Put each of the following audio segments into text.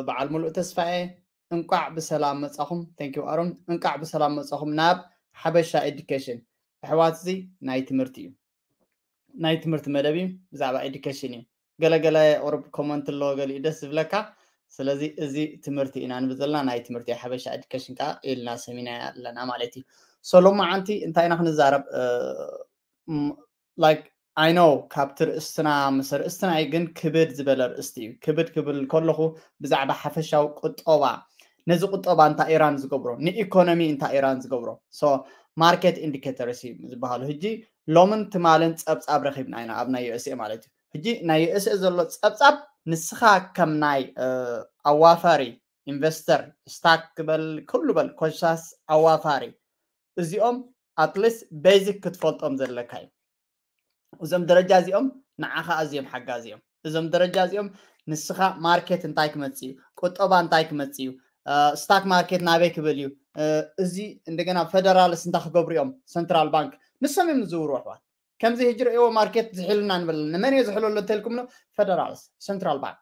በዓል ሙሉእ ተስፋኤ፣ እንቋዕ ብሰላም መጻኹም። Thank you ኣሮን። እንቋዕ ብሰላም መጻኹም ናብ ሓበሻ ኤዱኬሽን። ኣሕዋት፣ እዚ ናይ ትምህርቲ እዩ። ናይ ትምህርቲ መደብ እዩ። ብዛዕባ ኤዱኬሽን እዩ። ገለገለ ቁሩብ ኮመንት ኣለዎ፣ ገሊኡ ደስ ዝብለካ። ስለዚ እዚ ትምህርቲ ኢና ንብል ዘለና፣ ናይ ትምህርቲ ሓበሻ ኤዱኬሽን ከኣ ኢልና ሰሚና ኣለና ማለት እዩ። ሶ ሎማዓንቲ እንታይ ኢና ክንዛረብ? ላይክ፣ ኣይ ኖ ካብቲ ርእስትና፣ ምስ ርእስትና እዩ፣ ግን ክብድ ዝበለ ርእስቲ እዩ። ክብድ ክብል ከለኹ ብዛዕባ ሓፈሻዊ ቁጠባ፣ ነዚ ቁጠባ እንታይ ኢራን ዝገብሮ፣ ንኢኮኖሚ እንታይ ኢራን ዝገብሮ። ሶ ማርኬት ኢንዲኬተርስ እዩ ዝበሃሉ። ሕጂ ሎምን ትማልን ጸብጻብ ረኺብና ኢና ኣብ ናይ ዩኤስኤ ማለት እዩ። ሕጂ ናይ ዩኤስኤ ዘሎ ጸብጻብ ንስኻ ከም ናይ ኣዋፋሪ ኢንቨስተር፣ ስታክ በል፣ ኩሉ በል፣ ኮሻስ ኣዋፋሪ፣ እዚኦም ኣትሊስት ቤዚክ ክትፈልጦም ዘለካ እዩ። እዞም ደረጃ እዚኦም ንዓኻ ኣዝዮም ሓጋዚ እዮም። እዞም ደረጃ እዚኦም ንስኻ ማርኬት እንታይ ክመጽእ እዩ፣ ቁጠባ እንታይ ክመጽእ እዩ፣ ስታክ ማርኬት ናበይ ክብል እዩ፣ እዚ እንደገና ፈደራልስ እንታይ ክገብሩ እዮም፣ ሰንትራል ባንክ፣ ንሶም እዮም ዝዝውሩ ኣሕዋት። ከምዚ ሕጂ ርእይዎ ማርኬት ዝሕልና ንበል፣ ንመን እየ ዝሕለሉ እንተልኩም፣ ፈደራልስ፣ ሰንትራል ባንክ።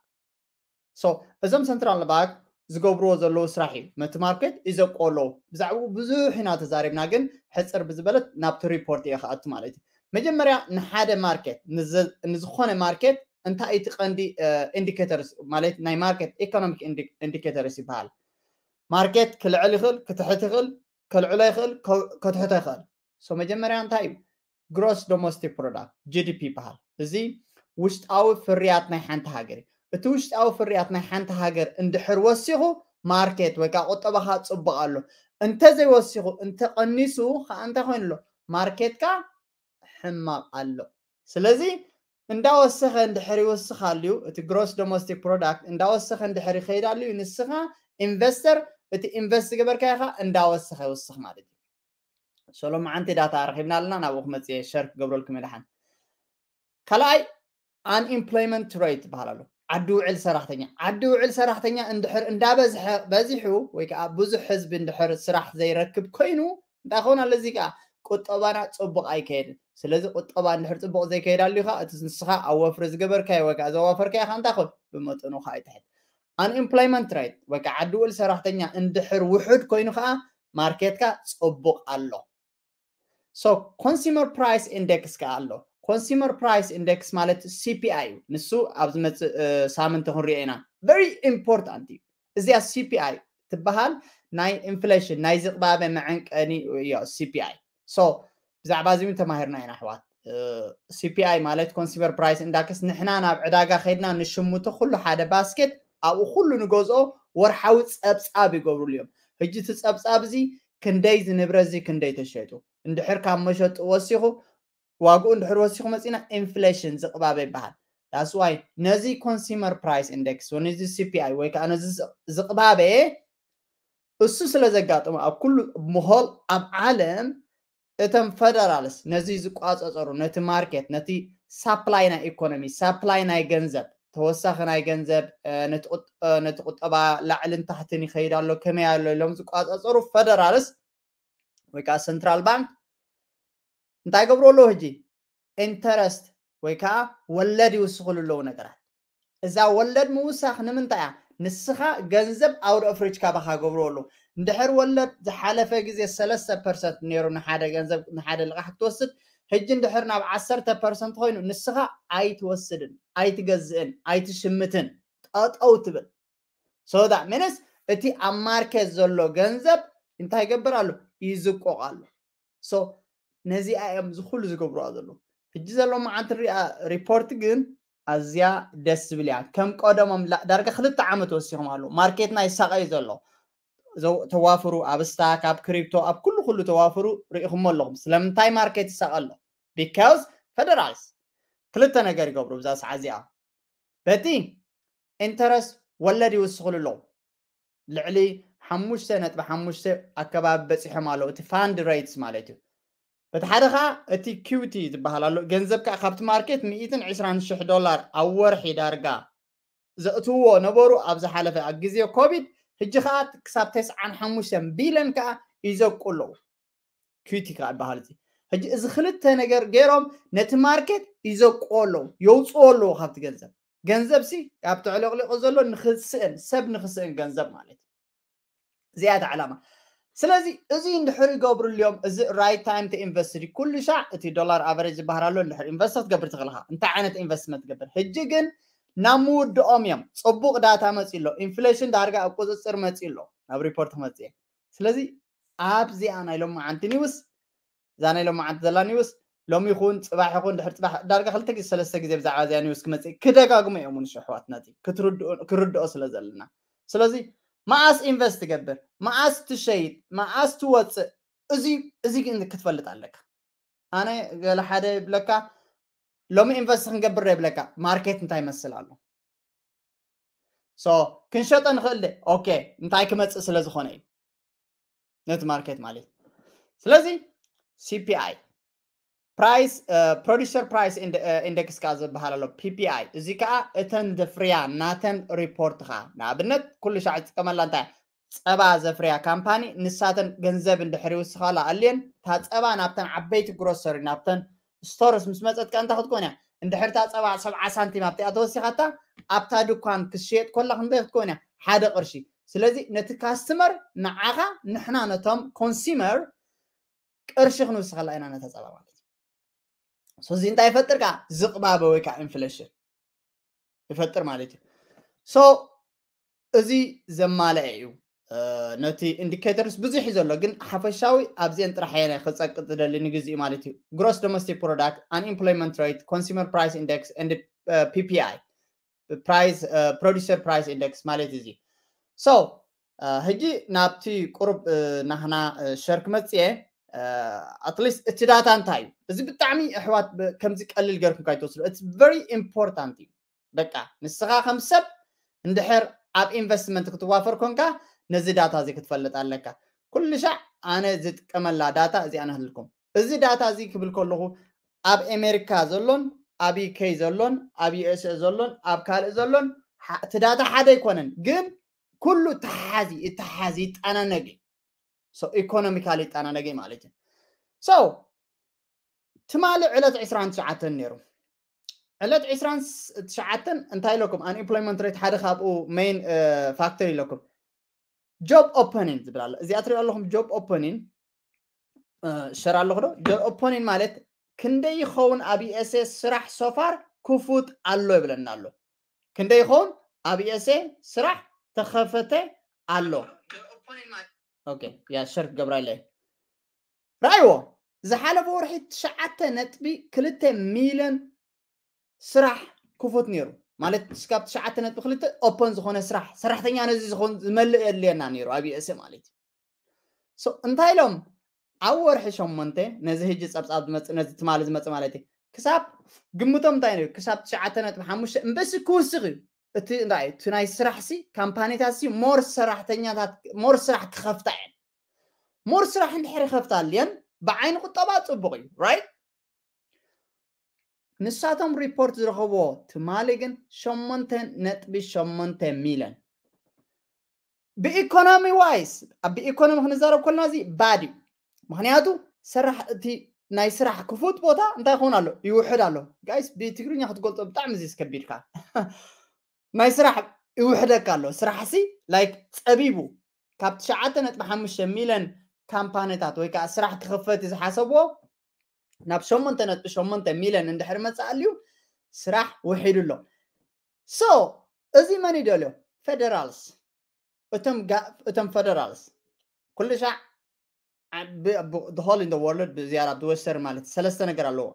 ሶ እዞም ሰንትራል ባንክ ዝገብርዎ ዘለዉ ስራሕ እዩ ነቲ ማርኬት ይዘቆሎ። ብዛዕባኡ ብዙሕ ኢና ተዛሪብና፣ ግን ሕፅር ብዝበለት ናብቲ ሪፖርት እየ ክኣቱ ማለት እዩ። መጀመርያ ንሓደ ማርኬት፣ ንዘ- ንዝኾነ ማርኬት እንታይ እቲ ቀንዲ ኢንዲኬተርስ ማለት ናይ ማርኬት ኢኮኖሚክ ኢንዲኬተርስ ይበሃል። ማርኬት ክልዕል ይኽእል፣ ክትሕት ይኽእል፣ ከልዕሎ ይኽእል፣ ከ- ከትሕቶ ይኽእል። ሶ መጀመርያ እንታይ እዩ? ግሮስ ዶሜስቲክ ፕሮዳክት፣ ጂ ዲ ፒ ይበሃል። እዚ ውሽጣዊ ፍርያት ናይ ሓንቲ ሃገር እዩ። እቲ ውሽጣዊ ፍርያት ናይ ሓንቲ ሃገር እንድሕር ወሲኹ ማርኬት ወይ ከዓ ቁጠባኻ ፅቡቕ ኣሎ። እንተዘይወሲኹ፣ እንተቐኒሱ ከዓ እንታይ ኮይኑ ኣሎ? ማርኬትካ ሕማቕ ኣሎ። ስለዚ እንዳወሰኸ እንድሕር ይወስኽ ኣልዩ፣ እቲ ግሮስ ዶሜስቲክ ፕሮዳክት እንዳወሰኸ እንድሕር ይኸይድ ኣልዩ፣ ንስኻ ኢንቨስተር እቲ ኢንቨስት ዝገበርካዮ ከዓ እንዳወሰኸ ይወስኽ ማለት እዩ። ሶ ሎማዓንቲ ዳታ ረኺብና ኣለና፣ ናብኡ ክመፅእ እየ፣ ሸር ክገብረልኩም እየ ደሓን። ካልኣይ፣ ኣንኤምፕሎይመንት ሬት ይበሃል ኣሎ። ዓዲ ውዕል ሰራሕተኛ፣ ዓዲ ውዕል ሰራሕተኛ እንድሕር እንዳበዝሐ፣ በዚሑ ወይ ከዓ ብዙሕ ህዝቢ እንድሕር ስራሕ ዘይረክብ ኮይኑ እንታይ ክኸውን ኣሎ? እዚ ከዓ ቁጠባና ፅቡቕ ኣይከየድን። ስለዚ ቁጠባ እንድሕር ፅቡቕ ዘይከየድ ኣልዩ ከዓ እቲ ንስኻ ኣብ ወፍሪ ዝገበርካዮ ወይ ከዓ ዘዋፈርካዮ ከዓ እንታይ ክኸውን? ብመጠኑ ከዓ ይትሕት። ኣንኤምፕሎይመንት ሬት ወይ ከዓ ዓዲ ውዕል ሰራሕተኛ እንድሕር ውሑድ ኮይኑ ከዓ ማርኬትካ ፅቡቕ ኣሎ። ሶ ኮንሱመር ፕራይስ ኢንዴክስ ከዓ ኣሎ። ኮንሱመር ፕራይስ ኢንዴክስ ማለት ሲ ፒ ኣይ እዩ። ንሱ ኣብ ዝመፅእ ሳምንቲ ክንሪኦ ኢና። ቨሪ ኢምፖርታንት እዩ። እዚኣ ሲ ፒ ኣይ ትበሃል ናይ ኢንፍሌሽን፣ ናይ ዝቕባበ መዐንቀኒ እዮ ሲ ፒ ኣይ። ሶ ብዛዕባ እዚ እውን ተማሂርና ኢና ኣሕዋት። ሲ ፒ ኣይ ማለት ኮንሱመር ፕራይስ ኢንዳክስ፣ ንሕና ናብ ዕዳጋ ከይድና ንሽምቶ ኩሉ ሓደ ባስኬት፣ ኣብኡ ኩሉ ንገዝኦ ወርሓዊ ፀብፃብ ይገብሩሉ እዮም። ሕጂ እቲ ፀብፃብ እዚ ክንደይ ዝንብረት እዚ ክንደይ ተሸጡ፣ እንድሕር ካብ መሸጡ ወሲኹ፣ ዋግኡ እንድሕር ወሲኹ መፂና ኢንፍሌሽን ዝቕባበ ይበሃል። ዳስ ዋይ ነዚ ኮንሱመር ፕራይስ ኢንዴክስ ወይ ነዚ ሲ ፒ ኣይ ወይ ከዓ ነዚ ዝቕባበ እሱ ስለ ዘጋጥሞ ኣብ ኩሉ ምሆል ኣብ ዓለም እቶም ፈደራልስ ነዚ ዝቋፀፀሩ ነቲ ማርኬት፣ ነቲ ሳፕላይ ናይ ኢኮኖሚ፣ ሳፕላይ ናይ ገንዘብ፣ ተወሳኺ ናይ ገንዘብ፣ ነቲ ቁጠባ ላዕልን ታሕትን ይኸይድ ኣሎ፣ ከመይ ኣሎ ኢሎም ዝቋፀፀሩ ፈደራልስ ወይ ከዓ ሰንትራል ባንክ እንታይ ገብሩ ኣለዉ? ሕጂ ኢንተረስት ወይ ከዓ ወለድ ይውስኽሉ ኣለዉ ነገራት። እዛ ወለድ ምውሳኽ ንምንታይ እያ? ንስኻ ገንዘብ ኣውድ ኦፍ ሪች ካባኻ ገብሩ ኣለዉ። እንድሕር ወለድ ዝሓለፈ ግዜ ሰለስተ ፐርሰንት ነይሩ ንሓደ ገንዘብ ንሓደ ልቓሕ ክትወስድ፣ ሕጂ እንድሕር ናብ ዓሰርተ ፐርሰንት ኮይኑ ንስኻ ኣይትወስድን፣ ኣይትገዝእን፣ ኣይትሽምትን፣ ጠጠው ትብል። ሶ ዳት ሚንስ እቲ ኣብ ማርኬት ዘሎ ገንዘብ እንታይ ይገብር ኣሎ? ይዝቆቕ ኣሎ። ሶ ነዚኣ እዮም እዚ ኩሉ ዝገብሩዋ ዘለዉ። ሕጂ ዘሎ መዓልቲ ንሪኣ ሪፖርት ግን ኣዝያ ደስ ዝብል እያ። ከም ቀደሞም ላ- ዳርጋ ክልተ ዓመት ወሲኾም ኣለዉ። ማርኬትና ይሳቐ እዩ ዘሎ። ዘው- ተዋፍሩ ኣብ ስታክ፣ ኣብ ክሪፕቶ፣ ኣብ ኩሉ ኩሉ ተዋፍሩ ርኢኹሞ ኣለኹም። ስለምንታይ ማርኬት ይሳቐ ኣሎ? ቢካውዝ ፈደራልስ ክልተ ነገር ይገብሩ ብዛ ሰዓት እዚኣ። በቲ ኢንተረስት ወለድ ይውስኽሉ ኣለዉ። ልዕሊ ሓሙሽተ ነጥቢ ሓሙሽተ ኣከባቢ በፂሖም ኣለዉ። እቲ ፋንድ ሬትስ ማለት እዩ። በቲ ሓደ ከዓ እቲ ኪውቲ ዝበሃል ኣሎ። ገንዘብ ከዓ ካብቲ ማርኬት ሚእትን ዕስራን ሽሕ ዶላር ኣብ ወርሒ ዳርጋ ዘእትውዎ ነበሩ ኣብ ዝሓለፈ ኣብ ግዜ ኮቪድ። ሕጂ ከዓ ክሳብ ተስዓን ሓሙሽተን ቢልዮን ከዓ ይዘቁ ኣለዉ። ኪውቲ ከዓ ይበሃል እዚ። ሕጂ እዚ ክልተ ነገር ገይሮም ነቲ ማርኬት ይዘቁዎ ኣለዉ፣ የውፅዎ ኣለዉ ካብቲ ገንዘብ። ገንዘብ ሲ ካብ ተዕለቕሊቑ ዘሎ ንክስእን ሰብ ንክስእን ገንዘብ ማለት እዩ። እዚኣ እያ ዕላማ። ስለዚ እዚ እንድሕር ይገብሩ ኣልዮም፣ እዚ right time to invest እዩ። ኩሉ ሻዕ እቲ ዶላር ኣቨሬጅ ዝበሃል ኣሎ። እንድሕር ኢንቨስት ክትገብር ትኽእል ኢኻ፣ እንታይ ዓይነት ኢንቨስትመንት ትገብር? ሕጂ ግን ናብ ምውድኦም እዮም። ጽቡቕ ዳታ መጺ ኣሎ፣ ኢንፍሌሽን ዳርጋ ኣብ ቁጽጽር መጺ ኣሎ፣ ናብ ሪፖርት ክመጽእ እየ። ስለዚ ኣብዚኣ ናይ ሎማዓንቲ ኒውስ፣ እዛ ናይ ሎማዓንቲ ዘላ ኒውስ ሎሚ ይኹን ጽባሕ ይኹን ድሕር ጽባሕ ዳርጋ ክልተ ግዜ ሰለስተ ግዜ ብዛዕባ እዚኣ ኒውስ ክመጽእ ክደጋግሞ እዮም ንሱ ኣሕዋትና፣ እቲ ክትርድኦ ስለ ዘለና። ስለዚ መዓስ ኢንቨስት ትገብር፣ መዓስ ትሸይጥ፣ መዓስ ትወጽእ፣ እዚ እዚ ግን ክትፈልጥ ኣለካ። ኣነ ገለ ሓደ ይብለካ፣ ሎሚ ኢንቨስት ክንገብር ይብለካ፣ ማርኬት እንታይ ይመስል ኣሎ። ሶ ክንሸጦ ንኽእል ደ? ኦኬ፣ እንታይ ክመጽእ ስለ ዝኾነ እዩ ነቲ ማርኬት ማለት እዩ። ስለዚ ሲፒኣይ፣ ፕራይስ፣ ፕሮዲሰር ፕራይስ ኢንደክስ ከዓ ዝበሃል ኣሎ፣ ፒፒኣይ። እዚ ከዓ እተን ዘፍርያ ናተን ሪፖርት ከዓ፣ ንኣብነት ኩሉ ሻዕ ዝጥቀመላ እንታይ፣ ጸባ ዘፍርያ ካምፓኒ፣ ንሳተን ገንዘብ እንድሕር ይውስኻላ ኣልየን፣ እታ ጸባ ናብተን ዓበይቲ ግሮሰሪ፣ ናብተን ስቶርስ ምስ መጸት ከ እንታይ ክትኮን እያ? እንድሕር እታ ጸባ ሰብዓ ሳንቲም ኣብቲኣ ተወሲኻታ፣ ኣብታ ድኳን ክሽየጥ ኮላ ክንደይ ክትኮን እያ? ሓደ ቅርሺ። ስለዚ ነቲ ካስተመር፣ ንዓኻ፣ ንሕና ነቶም ኮንሱመር ቅርሺ ክንውስኸላ ኢና ነታ ጸባ ማለት እዩ። ሶ እዚ እንታይ ይፈጥር? ከዓ ዝቕባበ ወይ ከዓ ኢንፍሌሽን ይፈጥር ማለት እዩ። ሶ እዚ ዘማልአ እዩ። ነቲ ኢንዲኬተርስ ብዙሕ እዩ ዘሎ፣ ግን ሓፈሻዊ ኣብዚአን ጥራሕ እየ ክጸቅጥ ዝደሊ ንግዚኡ ማለት እዩ። ግሮስ ዶሜስቲክ ፕሮዳክት፣ ኣንኤምፕሎይመንት ሬት፣ ኮንሱመር ፕራይስ ኢንደክስ፣ ፒፒኣይ፣ ፕራይስ፣ ፕሮዲሰር ፕራይስ ኢንደክስ ማለት እዚ። ሶ ሕጂ ናብቲ ቁሩብ ናህና ሸር ክመጽእ እየ። ኣትሊስት እቲ ዳታ እንታይ እዩ? እዚ ብጣዕሚ ኣሕዋት ከምዚ ቀሊል ገርኩም ካይትወስዱ፣ ኢትስ ቨሪ ኢምፖርታንት እዩ። በቃ ንስኻ ከም ሰብ እንድሕር ኣብ ኢንቨስትመንት ክትዋፈር ኮንካ ነዚ ዳታ እዚ ክትፈልጥ ኣለካ። ኩሉ ሻዕ ኣነ ዝጥቀመላ ዳታ እዚኣ ንህልኩም። እዚ ዳታ እዚ ክብል ከለኹ ኣብ ኣሜሪካ ዘሎን ኣብ ዩኬ ዘሎን ኣብ ዩኤስኤ ዘሎን ኣብ ካልእ ዘሎን እቲ ዳታ ሓደ ኣይኮነን፣ ግን ኩሉ ተሓዚ ይተሓዝ ይጠናነግ እዩ። ኢኮኖሚካሊ ይጠናነግ ማለት እዩ። ሶ ትማሊ ዕለት ዕስራን ትሽዓተን ነይሩ። ዕለት ዕስራን ትሽዓተን እንታይ ኢለኩም? ኣንኤምፕሎይመንት ሬት ሓደ ካብኡ ሜይን ፋክተር ኢለኩም። ጆብ ኦፐኒን ዝብል ኣሎ። እዚኣ ትሪኦ ኣለኹም ጆብ ኦፐኒን ሸር ኣለኹ ዶ? ጆብ ኦፐኒን ማለት ክንደይ ይኸውን ኣብ ዩኤስኤ ስራሕ ሶፋር ክፉት ኣሎ ይብለና ኣሎ። ክንደይ ይኸውን ኣብ ዩኤስኤ ስራሕ ተኸፈተ ኣሎ። ኦኬ፣ ያ ሸር ክገብራ ኢለ። ረኣይዎ፣ ዝሓለፈ ወርሒ ትሽዓተ ነጥቢ ክልተ ሚልዮን ስራሕ ክፉት ነይሩ። ማለት እስካብ ትሽዓተ ነጥቢ ክልተ ኦፐን ዝኾነ ስራሕ፣ ሰራሕተኛ ነዚ ዝኾን ዝመልእ የድልየና ነይሩ ኣብ ዩኤስኤ ማለት እዩ። ሶ እንታይ ኢሎም ኣብ ወርሒ ሸሞንተ ነዚ ህጂ ጸብጻብ ዝመጽእ፣ ነዚ ትማሊ ዝመጽእ ማለት እዩ። ክሳብ ግምቶም እንታይ ነይሩ? ክሳብ ትሽዓተ ነጥቢ ሓሙሽተ እምበሲ ክውስኽ እዩ። እቲ እንታይ እቲ ናይ ስራሕ ሲ ካምፓኒታት ሲ ሞር ሰራሕተኛታት ሞር ስራሕ ክኸፍታ እየን። ሞር ስራሕ እንድሕር ይኸፍታ ኣልየን ብዓይኒ ቁጠባ ጽቡቕ እዩ፣ ራይት? ንሳቶም ሪፖርት ዝረኸብዎ ትማሊ ግን ሸሞንተ ነጥቢ ሸሞንተ ሚልዮን። ብኢኮኖሚ ዋይስ፣ ብኢኮኖሚ ክንዛረብ ከለና እዚ ባድ እዩ። ምኽንያቱ ሰራሕ እቲ ናይ ስራሕ ክፉት ቦታ እንታይ ክኸውን ኣሎ? ይውሕድ ኣሎ። ጋይስ፣ ብትግርኛ ክትገልጾ ብጣዕሚ እዚ ከቢድካ። ናይ ስራሕ ይውሕደካ ኣሎ። ስራሕ ሲ ላይክ ጸቢቡ፣ ካብ ትሽዓተ ነጥቢ ሓሙሽተ ሚልዮን ካምፓኒታት ወይ ከዓ ስራሕ ክኽፈት ዝሓሰብዎ ናብ ሸሞንተ ነጥቢ ሸሞንተ ሚልዮን እንድሕር መጽእ ኣልዩ ስራሕ ውሒዱ ኣሎ። ሶ እዚ መን ይደልዮ? ፌደራልስ። እቶም ጋ- እቶም ፌደራልስ ኩሉ ሻዕ ብ- ብ- the whole in the world ብዝያዳ ኣብ ወስተርን ማለት ሰለስተ ነገር ኣለዎ።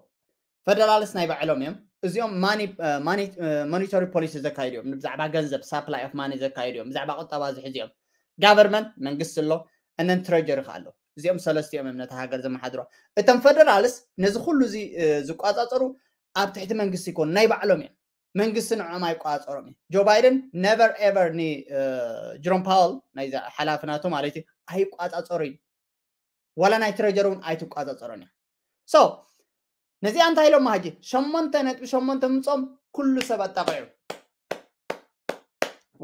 ፌደራልስ ናይ ባዕሎም እዮም። እዚኦም ማኒ- እ፣ ማኒ- እ፣ ሞኒተሪ ፖሊሲ ዘካይዱ እዮም። ብዛዕባ ገንዘብ ሳፕላይ ኦፍ ማኒ ዘካይዱ እዮም። ብዛዕባ ቁጠባ ዝሕዙ እዮም። ጋቨርንመንት መንግስቲ ኣሎ፣ እነን ትሬጀሪ ከ ኣሎ። እዚኦም ሰለስቲኦም እዮም ነታ ሃገር ዘመሓድሮ። እቶም ፌደራልስ ነዚ ኩሉ እዚ እ፣ ዝቋጻጸሩ ኣብ ትሕቲ መንግስቲ ይኮኑ፣ ናይ ባዕሎም እዮም። መንግስቲ ንዕኦም ኣይቋጸሮም እዩ። ጆ ባይደን ነቨር ኤቨር ን እ፣ ጀሮም ፓወል ናይዛ ሓላፊ ናቱ ማለት እዩ ኣይቋጻጸሩ እዩ። ዋላ ናይ ትሬጀሪ እውን ኣይትቋጻጸሮን እያ። ሶ ነዚኣ እንታይ ኢሎማ ሕጂ ሸሞንተ ነጥቢ ሸሞንተ ምጾም ኩሉ ሰብ ኣጣቂዑ።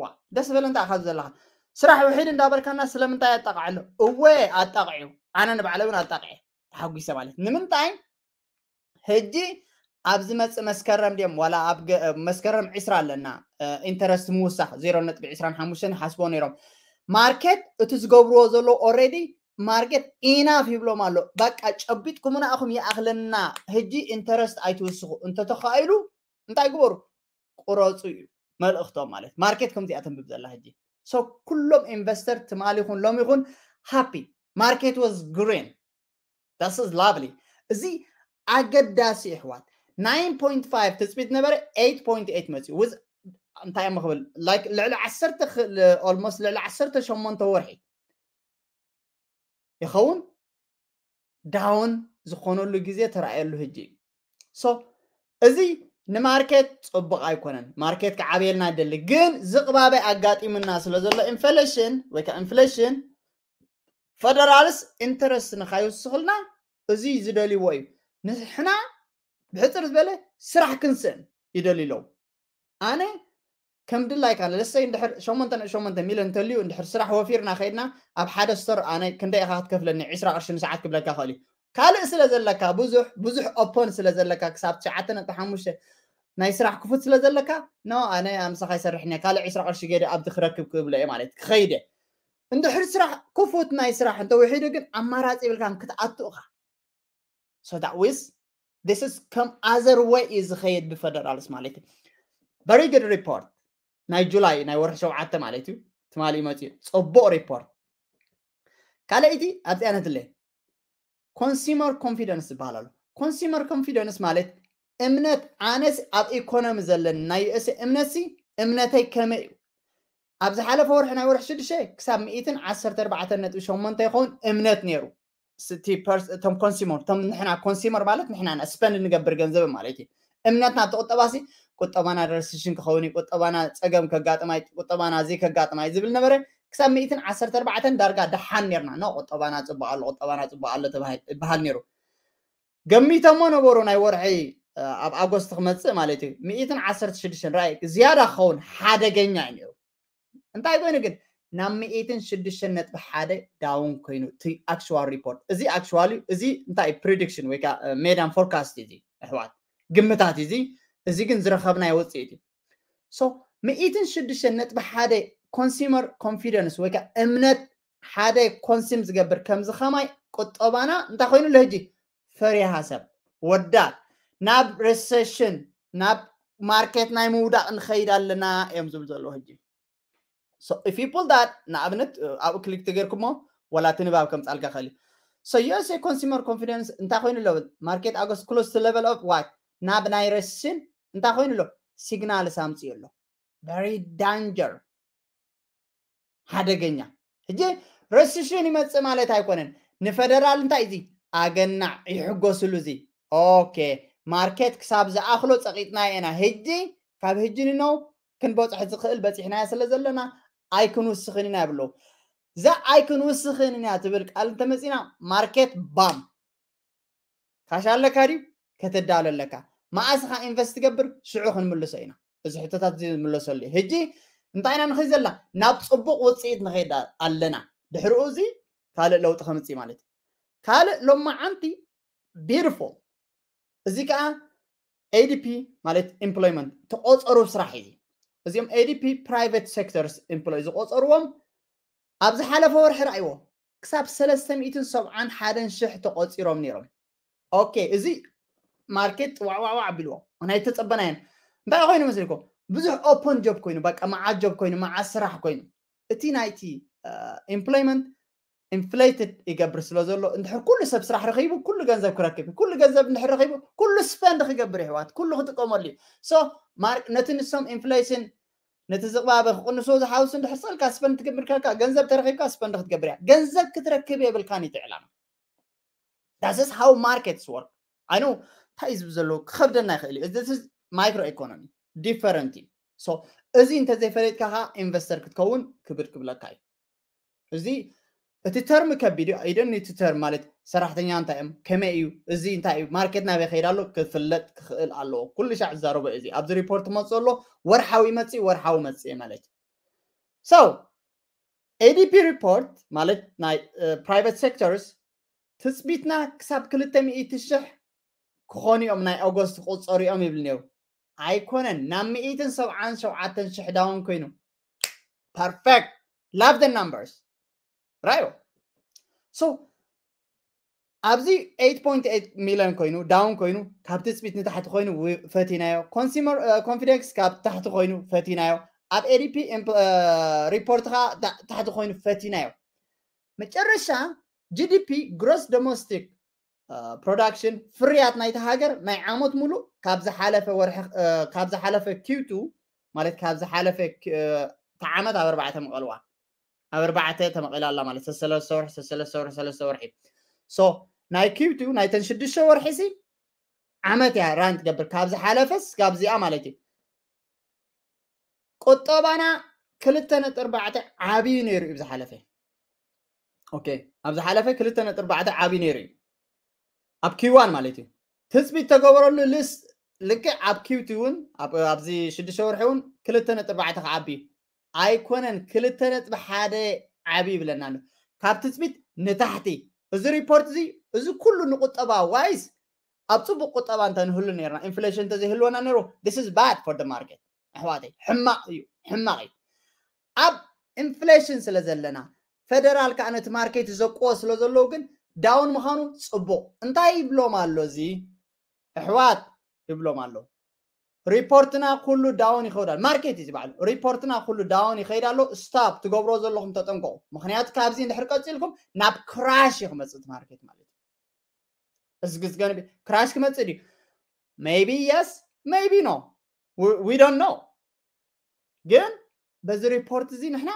ዋ ደስ በለ እንታይ ካብ ዘለኻ ስራሕ ውሒድ እንዳበልካና ስለምንታይ ኣጣቃዕሎ? እወ ኣጣቂዑ፣ ኣነ ንባዕለ እውን ኣጣቂዐ ተሓጒሰ ማለት ንምንታይ ሕጂ ኣብ ዝመፅእ መስከረም ድዮም ዋላ ኣብ መስከረም ዕስራ ኣለና ኢንተረስት ምውሳኽ ዜሮ ነጥቢ ዕስራን ሓሙሽተን ሓስቦ ነይሮም። ማርኬት እቲ ዝገብርዎ ዘሎ ኦልሬዲ ማርኬት ኢናፍ ይብሎም ኣሎ። በቃ ጨቢጥኩምና ኢኹም ይኣኽለና፣ ህጂ ኢንተረስት ኣይትውስኹ እንተተኻኢሉ እንታይ ግበሩ? ቁረፁ እዩ መልእኽቶም። ማለት ማርኬት ከምዚኣ ተንብብ ዘላ ህጂ። So ኩሎም ኢንቨስተር ትማሊ ይኹን ሎም ይኹን ሃፒ ማርኬት ወዝ ግሪን። This is lovely። እዚ ኣገዳሲ ይሕዋት። ናይን ፖይንት ፋይቭ ትፅቢት ነበረ፣ ኤይት ፖይንት ኤይት መፅዩ። ውዝ እንታይ እሞ ክብል ላይክ ልዕሊ ዓሰርተ ኦልሞስት ልዕሊ ዓሰርተ ሸሞንተ ወርሒ ይኸውን ዳውን ዝኾነሉ ግዜ ተራእየሉ ህጂ። So እዚ ንማርኬት ፅቡቕ ኣይኮነን። ማርኬት ክዓብየልና ይደሊ፣ ግን ዝቕባበ ኣጋጢሙና ስለ ዘሎ ኢንፍሌሽን ወይ ከዓ ኢንፍሌሽን ፈደራልስ ኢንተረስት ንካይውስኽልና እዚ ዝደልይዎ እዩ። ንሕና ብሕፅር ዝበለ ስራሕ ክንስእን ይደልዩ ኣለዉ። ኣነ ከም ድላይካ ለሰይ እንድሕር ሸሞንተ ነጥቢ ሸሞንተ ሚሊዮን እንተልዩ እንድሕር ስራሕ ወፊርና ከይድና ኣብ ሓደ ስቶር ኣነ ክንደይ ኢኻ ክትከፍለኒ ዕስራ ቅርሺ ንሰዓት ክብለካ ክእል እዩ። ካልእ ስለ ዘለካ ብዙሕ ብዙሕ ኦፖን ስለ ዘለካ ክሳብ ትሽዓተ ነጥቢ ሓሙሽተ ናይ ስራሕ ክፉት ስለ ዘለካ ኖ ኣነ ኣምሳኻ ይሰርሕኒ ካልእ ዕስራ ቅርሺ ገደ ኣብቲ ክረክብ ክብሎ እየ ማለት ክኸይደ እንድሕር ስራሕ ክፉት ናይ ስራሕ እንተውሒዱ ግን ኣማራፂ ይብልካን ክትኣቱ ኢኻ። So that was this is ከም other way እዩ ዝኸይድ ብፈደራልስ ማለት እዩ። Very good report ናይ ጁላይ ናይ ወርሒ ሸውዓተ ማለት እዩ። ትማሊ መፅዩ ፅቡቕ ሪፖርት። ካልኣይቲ ኣብዚኣ ነትለ ኮንሱመር ኮንፊደንስ ዝበሃል ኣሎ። ኮንሱመር ኮንፊደንስ ማለት እምነት ኣነስ ኣብ ኢኮኖሚ ዘለኒ ናይ ዩኤስ እምነትሲ እምነተይ ከመይ እዩ? ኣብ ዝሓለፈ ወርሒ ናይ ወርሒ ሽዱሽተ ክሳብ ሚእትን ዓሰርተ ኣርባዕተን ነጥቢ ሸሞንተ ይኸውን እምነት ነይሩ። እቲ ፐርስ- እቶም ኮንሱመር እቶም ንሕና ኮንሱመር ማለት ንሕና ስፐንድ ንገብር ገንዘብ ማለት እዩ። እምነትና ኣብቲ ቁጠባ ሲ ቁጠባና ረሲሽን ክኸውን እዩ፣ ቁጠባና ፀገም ከጋጥማ እዩ፣ ቁጠባና እዚ ከጋጥማ እዩ ዝብል ነበረ። ክሳብ ሚእትን ዓሰርተ ኣርባዕተን ዳርጋ ደሓን ነርና ኖ ቁጠባና ፅቡቅ ኣሎ ቁጠባና ፅቡቅ ኣሎ ተባሂል ይበሃል ነይሩ። ገሚተሞ ነበሩ ናይ ወርሒ ኣብ ኣጎስት ክመፅእ ማለት እዩ። ሚእትን ዓሰርተ ሽዱሽተን ራይ ዝያዳ ክኸውን ሓደገኛ እዩ ነይሩ። እንታይ ኮይኑ ግን ናብ ሚእትን ሽዱሽተን ነጥቢ ሓደ ዳውን ኮይኑ እቲ ኣክቹዋል ሪፖርት እዚ ኣክቹዋሊ እዚ እንታይ ፕሪዲክሽን ወይ ከዓ ሜዳን ፎርካስት እዚ ኣሕዋት ግምታት እዚ እዚ ግን ዝረኸብናዮ ውፅኢት እዩ። So ሚእትን ሽዱሽተን ነጥቢ ሓደ ኮንሱመር ኮንፊደንስ ወይ ከዓ እምነት ሓደ ኮንሱም ዝገብር ከምዚ ከማይ ቁጠባና እንታይ ኮይኑ ኣሎ ህጂ ፈሪሃ ሰብ ወዳት ናብ ሪሰሽን ናብ ማርኬት ናይ ምውዳቅ ንኸይድ ኣለና እዮም ዝብል ዘለዉ ህጂ። So if you pull that ንኣብነት ኣብኡ ክሊክ ተገርኩሞ ወላ እቲ ንባብ ከምፃልካ ክእል እዩ። So USA consumer confidence እንታይ ኮይኑ ኣሎ ማርኬት ኣጎስት close to level of what ናብ ናይ ረስሽን እንታይ ኮይኑ ኣሎ ሲግናል ሳምፅኡ ኣሎ very danger ሓደገኛ። ሕጂ ረስሽን ይመፅእ ማለት ኣይኮነን። ንፈደራል እንታይ እዚ ኣገናዕ ይሕጎስሉ እዚ ኦኬ ማርኬት ክሳብ ዝኣኽሎ ፀቂጥና ኢና። ሕጂ ካብ ሕጂ ንነው ክንበፅሕ ዝኽእል በፂሕናዮ ስለ ዘለና ኣይክንውስኽን ኢና ይብለዉ። እዛ ኣይክንውስኽን ኢና ትብል ቃል እንተመፂና ማርኬት ባም ካሽ ኣለካ ድዩ ከተዳሎ ኣለካ መኣስ ኻ ኢንቨስት ትገብር ሽዑ ክንምልሶ ኢና። እዚ ሕቶታት እዚ ንምለሰሉ እዩ። ሕጂ እንታይ ኢና ንኸይድ ዘለና ናብ ፅቡቅ ውፅኢት ንኸይድ ኣለና። ድሕሪኡ እዚ ካልእ ለውጢ ከምፅእ ማለት እዩ። ካልእ ሎማዓንቲ ቢዩቲፉል እዚ ከዓ ኤዲፒ ማለት ኢምፕሎይመንት ተቆፀሩ ስራሕ እዩ። እዚኦም ኤዲፒ ፕራይቬት ሴክተርስ ኢምፕሎይ ዝቆፀርዎም ኣብ ዝሓለፈ ወርሒ ረኣይዎ ክሳብ ሰለስተ ሚእትን ሰብዓን ሓደን ሽሕ ተቆፂሮም ነይሮም። ኦኬ እዚ ማርኬት ዋዕዋዕዋ ኣቢልዎ ናይ ተፀበናየን እንታይ ኮይኑ መስልኩም ብዙሕ ኦፐን ጆብ ኮይኑ በቃ መዓት ጆብ ኮይኑ መዓት ስራሕ ኮይኑ እቲ ናይቲ ኢምፕሎይመንት ኢንፍሌትድ ይገብር ስለ ዘሎ እንድሕር ኩሉ ሰብ ስራሕ ረኺቡ ኩሉ ገንዘብ ክረክብ ኩሉ ገንዘብ እንድሕር ረኺቡ ኩሉ ስፐንድ ክገብር ይሕዋት ኩሉ ክጥቀመሉ እዩ። So ነቲ ንሶም ኢንፍሌሽን ነቲ ዝቕባበ ክቕንስዎ ዝሓውስ እንድሕር ሰልካ ስፐንድ ትገብር ከልካ ገንዘብ ተረኺብካ ስፐንድ ክትገብር እያ። ገንዘብ ክትረክብ የብልካን እቲ ዕላማ። That's how markets work። ኣይ ኖ እንታይ ዝብ ዘሎ ክኸብደና ይኽእል እዩ። እዚ ማይክሮ ኢኮኖሚ ዲፈረንት እዩ። So እዚ እንተዘይፈለጥካ ከዓ ኢንቨስተር ክትከውን ክብድ ክብለካ እዩ። እዚ እቲ ተርም ከቢድ እዩ። ኣይደን እቲ ተርም ማለት ሰራሕተኛ እንታይ እዮም ከመይ እዩ እዚ እንታይ እዩ ማርኬት ናበይ ከይድ ኣሎ ክፍለጥ ክኽእል ኣለዎ። ኩሉ ሻዕ ዝዛረቦ እዚ ኣብዚ ሪፖርት መፅእ ኣሎ ወርሓዊ መፅእ ወርሓዊ መፅእ ማለት እዩ። So ኤዲፒ ሪፖርት ማለት ናይ ፕራይቬት ሴክተርስ ትፅቢትና ክሳብ ክልተ ሚእቲ ሽሕ ክኾኑ እዮም፣ ናይ ኦገስት ክቁፀሩ እዮም ይብል ነይሩ። ኣይኮነን፣ ናብ ሚእትን ሰብዓን ሸውዓተን ሽሕ ዳውን ኮይኑ። Perfect. Love the numbers. ራዮ። So ኣብዚ eight point eight million ኮይኑ ዳውን ኮይኑ፣ ካብ ትፅቢት ንታሕቲ ኮይኑ ፈቲናዮ። ኮንሱመር ኮንፊደንስ ካብ ታሕቲ ኮይኑ ፈቲናዮ። ኣብ ኤዲፒ ሪፖርት ከዓ ታሕቲ ኮይኑ ፈቲናዮ። መጨረሻ ጂዲፒ፣ ግሮስ ዶሜስቲክ ፕሮዳክሽን፣ ፍርያት ናይቲ ሃገር ናይ ዓመት ሙሉእ ካብ ዝሓለፈ ወርሒ፣ ካብ ዝሓለፈ ኪውቱ ማለት ካብ ዝሓለፈ ዓመት ኣብ ኣርባዕተ መቐልዋ፣ ኣብ ኣርባዕተ ተመቒላ ኣላ ማለት ሰለስተ ወርሒ ሰለስተ ወርሒ ሰለስተ ወርሒ። So ናይ ኪውቱ ናይተን ሽዱሽተ ወርሒ ሲ ዓመት እያ ራን ትገብር፣ ካብ ዝሓለፈስ ካብ እዚኣ ማለት እዩ። ቁጠባና ክልተ ነጥቢ ኣርባዕተ ዓብዩ ነይሩ እዩ ዝሓለፈ። ኦኬ፣ ኣብ ዝሓለፈ ክልተ ነጥቢ ኣርባዕተ ዓብዩ ነይሩ እዩ፣ ኣብ ኪዋን ማለት እዩ። ትፅቢት ተገበረሉ ልስ ልክዕ ኣብ ኪውቲ እውን ኣብዚ ሽዱሽተ ወርሒ እውን ክልተ ነጥቢ ኣርባዕተ ክዓቢ ኣይኮነን፣ ክልተ ነጥቢ ሓደ ዓብዩ ይብለና ኣሎ። ካብ ትፅቢት ንታሕቲ። እዚ ሪፖርት እዚ፣ እዚ ኩሉ ንቁጠባ ዋይስ ኣብ ፅቡቅ ቁጠባ እንተንህሉ ነርና፣ ኢንፍሌሽን እንተዘይህልወና ነይሩ፣ this is bad for the market ኣሕዋተይ፣ ሕማቅ እዩ፣ ሕማቅ እዩ። ኣብ ኢንፍሌሽን ስለ ዘለና፣ ፈደራል ከዓ ነቲ ማርኬት ዘቅዎ ስለ ዘለዉ ግን ዳውን ምዃኑ ፅቡቅ። እንታይ ይብሎም ኣሎ እዚ ኣሕዋት? ይብሎም ኣሎ፣ ሪፖርትና ኩሉ ዳውን ይኸይድ ኣሎ። ማርኬት እዩ ዝበዓሉ፣ ሪፖርትና ኩሉ ዳውን ይኸይድ ኣሎ። ስታፕ ትገብሮ ዘለኹም ተጠንቀቁ። ምክንያቱ ካብዚ እንድሕር ቀፂልኩም ናብ ክራሽ እዩ ክመፅእ እቲ ማርኬት ማለት እዩ። እዚ ግዝገን ክራሽ ክመፅእ ድዩ? Maybe yes, maybe no, we don't know። ግን በዚ ሪፖርት እዚ ንሕና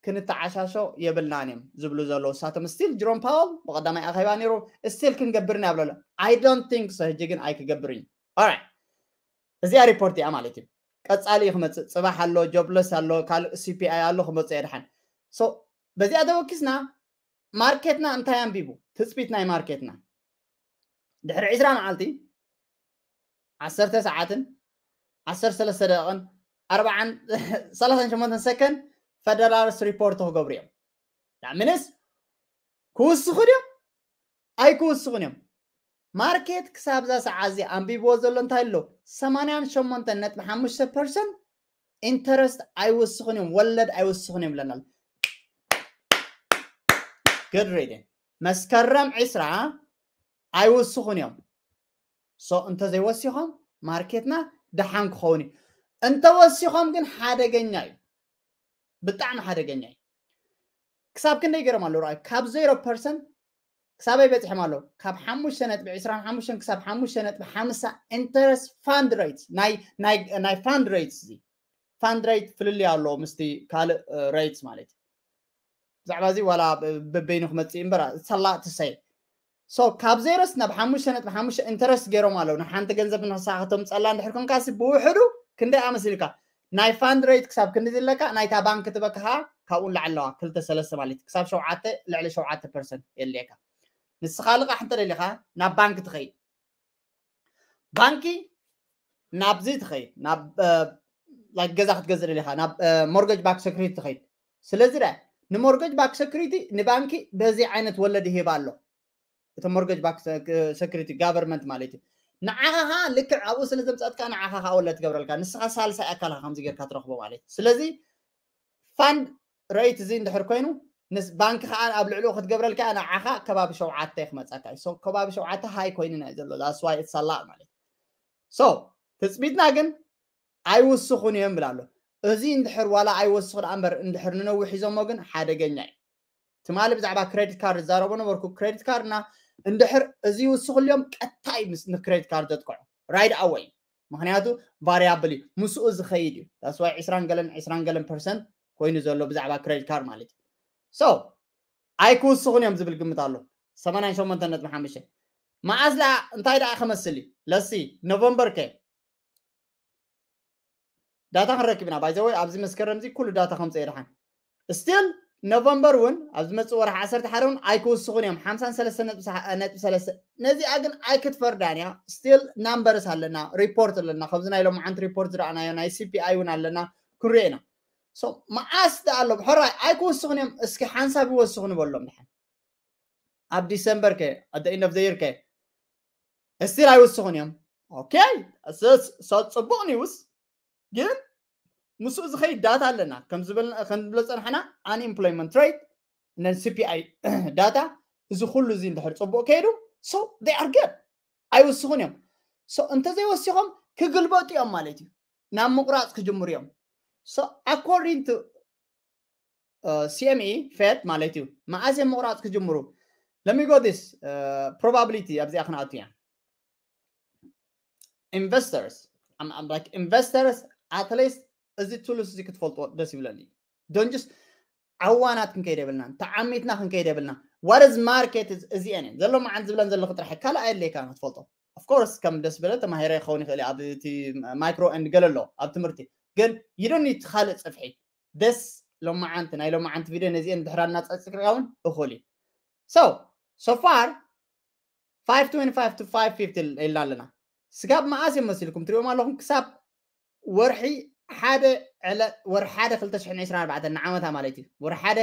ክንተዓሻሾ የብልናን እዮም ዝብሉ ዘለዉ እሳቶም። ስቲል ጅሮም ፓወል ብቀዳማይ ኣኼባ ነይሩ፣ ስቲል ክንገብር ኢና ይብለሉ። I don't think so። ሕጂ ግን ኣይክገብር እዩ። ኦራይት፣ እዚኣ ሪፖርት እያ ማለት እዩ። ቀፃሊ እዩ ክመፅእ። ፅባሕ ኣሎ፣ ጆብለስ ኣሎ፣ ካልእ ሲፒኣይ ኣሎ ክመፅእ እየ ድሓን። So በዚኣ ተወኪስና ማርኬትና እንታይ ኣንቢቡ? ትፅቢት ናይ ማርኬትና ድሕሪ ዕስራ መዓልቲ፣ ዓሰርተ ሰዓትን ዓሰርተ ሰለስተ ደቂቕን ኣርባዓን ሰላሳን ሸሞንተን ሰከንድ ፈደራልስ ሪፖርት ክገብሩ እዮም። ዳምንስ ክውስኹ ድዮም ኣይክውስኹን እዮም። ማርኬት ክሳብ እዛ ሰዓት እዚ ኣንቢብዎ ዘሎ እንታይ ኣሎ? ሰማንያን ሸሞንተን ነጥቢ ሓሙሽተ ፐርሰንት ኢንተረስት ኣይወስኹን እዮም፣ ወለድ ኣይወስኹን እዮም ብለና ኣሎ። Good reading። መስከረም ዕስራ ኣይወስኹን እዮም። So እንተዘይወሲኾም ማርኬትና ደሓን ክኸውን እዩ። እንተወሲኾም ግን ሓደገኛ እዩ፣ ብጣዕሚ ሓደገኛ እዩ። ክሳብ ክንደይ ገይሮም ኣለዉ? ረኣዩ፣ ካብ ዜሮ ፐርሰንት ክሳበይ በፂሖም ኣለዉ? ካብ ሓሙሽተ ነጥቢ ዕስራን ሓሙሽተን ክሳብ ሓሙሽተ ነጥቢ ሓምሳ ኢንተረስት ፋንድ ሬት፣ ናይ ፋንድ ሬት፣ እዚ ፋንድ ሬት ፍልልይ ኣለዎ ምስቲ ካልእ ሬትስ ማለት እዩ። ብዛዕባ እዚ ዋላ በበይኑ ክመፅእ እምበር ሰላ ትሰይ። So ካብ ዜሮስ ናብ ሓሙሽተ ነጥቢ ሓሙሽተ ኢንተረስት ገይሮም ኣለዉ። ንሓንቲ ገንዘብ ንክሳኸቶም ፀላ እንድሕር ኮንካሲ ብውሕዱ ክንደይ ኣመሲልካ? ናይ ፋንድ ሬት ክሳብ ክንዲ ዝለካ፣ ናይታ ባንክ ትበካ ከዓ ካብኡ ንላዕሊ ኣለዋ፣ ክልተ ሰለስተ ማለት እዩ። ክሳብ ሸውዓተ፣ ልዕሊ ሸውዓተ ፐርሰንት የድልየካ። ንስኻ ልቓሕ እንተደሊኻ ናብ ባንክ ትኸይድ፣ ባንኪ ናብዚ ትኸይድ፣ ናብ ላይክ ገዛ ክትገዝእ ደሊኻ ናብ ሞርገጅ ባክ ሰክሪቲ ትኸይድ። ስለዚ ዳ ንሞርገጅ ባክ ሰክሪቲ ንባንኪ በዚ ዓይነት ወለድ ይህብ ኣሎ። እቲ ሞርገጅ ባክ ሰክሪቲ ጋቨርንመንት ማለት እዩ። ንዓኻ ኸዓ ልክዕ ኣብኡ ስለ ዘምፀኣትካ ንዓኻ ኸዓ ወለድ ትገብረልካ። ንስኻ ሳልሳይ ኣካል ኢኻ ከምዚ ጌርካ ትረኽቦ ማለት እዩ። ስለዚ ፋንድ ሬት እዚ እንድሕር ኮይኑ ንስ ባንክ ኸዓ ኣብ ልዕሊኡ ክትገብረልካ ንዓኻ ከባቢ ሸውዓተ ክመፀካ እዩ። So ከባቢ ሸውዓተ ሃይ ኮይኑ ናይ ዘሎ that's why it's a lot ማለት እዩ። So ትፅቢትና ግን ኣይውስኹን እዮም ይብል ኣሎ። እዚ እንድሕር ዋላ ኣይወስኹ ደኣ እምበር እንድሕር ንነዊሕ ሒዞሞ ግን ሓደገኛ እዩ። ትማሊ ብዛዕባ ክሬዲት ካርድ ዝዛረቦ ነበርኩ። ክሬዲት ካርድና እንድሕር እዚ ይውስኹልዮም ቀጥታ እዩ ምስ ንክሬዲት ካርድ ዘጥቅዖ right away። ምክንያቱ ቫሪያብል እዩ፣ ምስኡ ዝኸይድ እዩ። That's why ዕስራን ገለን ዕስራን ገለን ፐርሰንት ኮይኑ ዘሎ ብዛዕባ ክሬዲት ካርድ ማለት እዩ። So ኣይክውስኹን እዮም ዝብል ግምት ኣሎ። ሰማንያን ሸሞንተን ነጥቢ ሓሙሽተ። መዓስ ደኣ እንታይ ደኣ ክመስል እዩ? ለሲ ኖቨምበር ከ ዳታ ክንረክብ ኢና። By the way ኣብዚ መስከረም እዚ ኩሉ ዳታ ከምፅእ የድሓን። ስቲል ኖቨምበር እውን ኣብ ዝመፅእ ወርሒ ዓሰርተ ሓደ እውን ኣይክውስኹን እዮም። ሓምሳን ሰለስተን ነጥቢ ሰለስተ። ነዚኣ ግን ኣይክትፈርዳን እያ። ስቲል ናምበርስ ኣለና፣ ሪፖርት ኣለና። ከምዚ ናይ ሎምዓንቲ ሪፖርት ዝረኣናዮ ናይ ሲፒኣይ እውን ኣለና፣ ክንሪኦ ኢና። So መዓስ ደኣ ኣሎ ሕራይ ኣይክውስኹን እዮም። እስኪ ሓንሳብ ይወስኹ ንበሎም ድሓን። ኣብ ዲሰምበር ከ፣ at the end of the year ከ እስቲል ኣይውስኹን እዮም። ኦኬ፣ ጽቡቕ ኒውስ። ግን ምስኡ ዝኸይድ ዳታ ኣለና። ከም ዝበልና ከም ንብሎ ጸንሐና፣ unemployment rate and CPI data፣ እዚ ኩሉ እዚ እንድሕር ጽቡቕ ከይዱ፣ so they are good፣ ኣይውስኹን እዮም። So እንተዘይወሲኾም ክግልበጡ እዮም ማለት እዩ። ናብ ምቑራጽ ክጅምሩ እዮም። So according to CME Fed ማለት እዩ፣ መዓስ እዮም ምቑራጽ ክጅምሩ? Let me go this probability ኣብዚኣ ክንኣቱ እያ። Investors, like investors, at least እዚ ቱልስ እዚ ክትፈልጥዎ ደስ ይብለኒ። Don't just ዓዋናት ክንከይድ የብልና፣ ተዓሚትና ክንከይድ የብልና። What is market is እዚአን እየን ዘሎ መዓን ዝብለን ዘለኹ ጥራሕ ካልእ ኣየድልየካ ክትፈልጦ። Of course ከም ደስ በለ ተማሂረ ክኸውን ይኽእል ኣብ እቲ micro and ገለ ኣሎ ኣብ ትምህርቲ፣ ግን you don't need ካልእ ጽፍሒ። ደስ ሎመዓንቲ ናይ ሎመዓንቲ ቪድዮ ነዚአን ድሕራ እናጸጽክርካ እውን እኹል እዩ። So so far five twenty-five to five fifty ኢልና ኣለና። ስጋብ መዓስ እዮም መሲልኩም ትሪኦም ኣለኹም? ክሳብ ወርሒ ሓደ ዕለ ወርሒ ሓደ ክልተ ሽሕን ዕስራን ኣርባዕተን ንዓመታ ማለት እዩ። ወርሒ ሓደ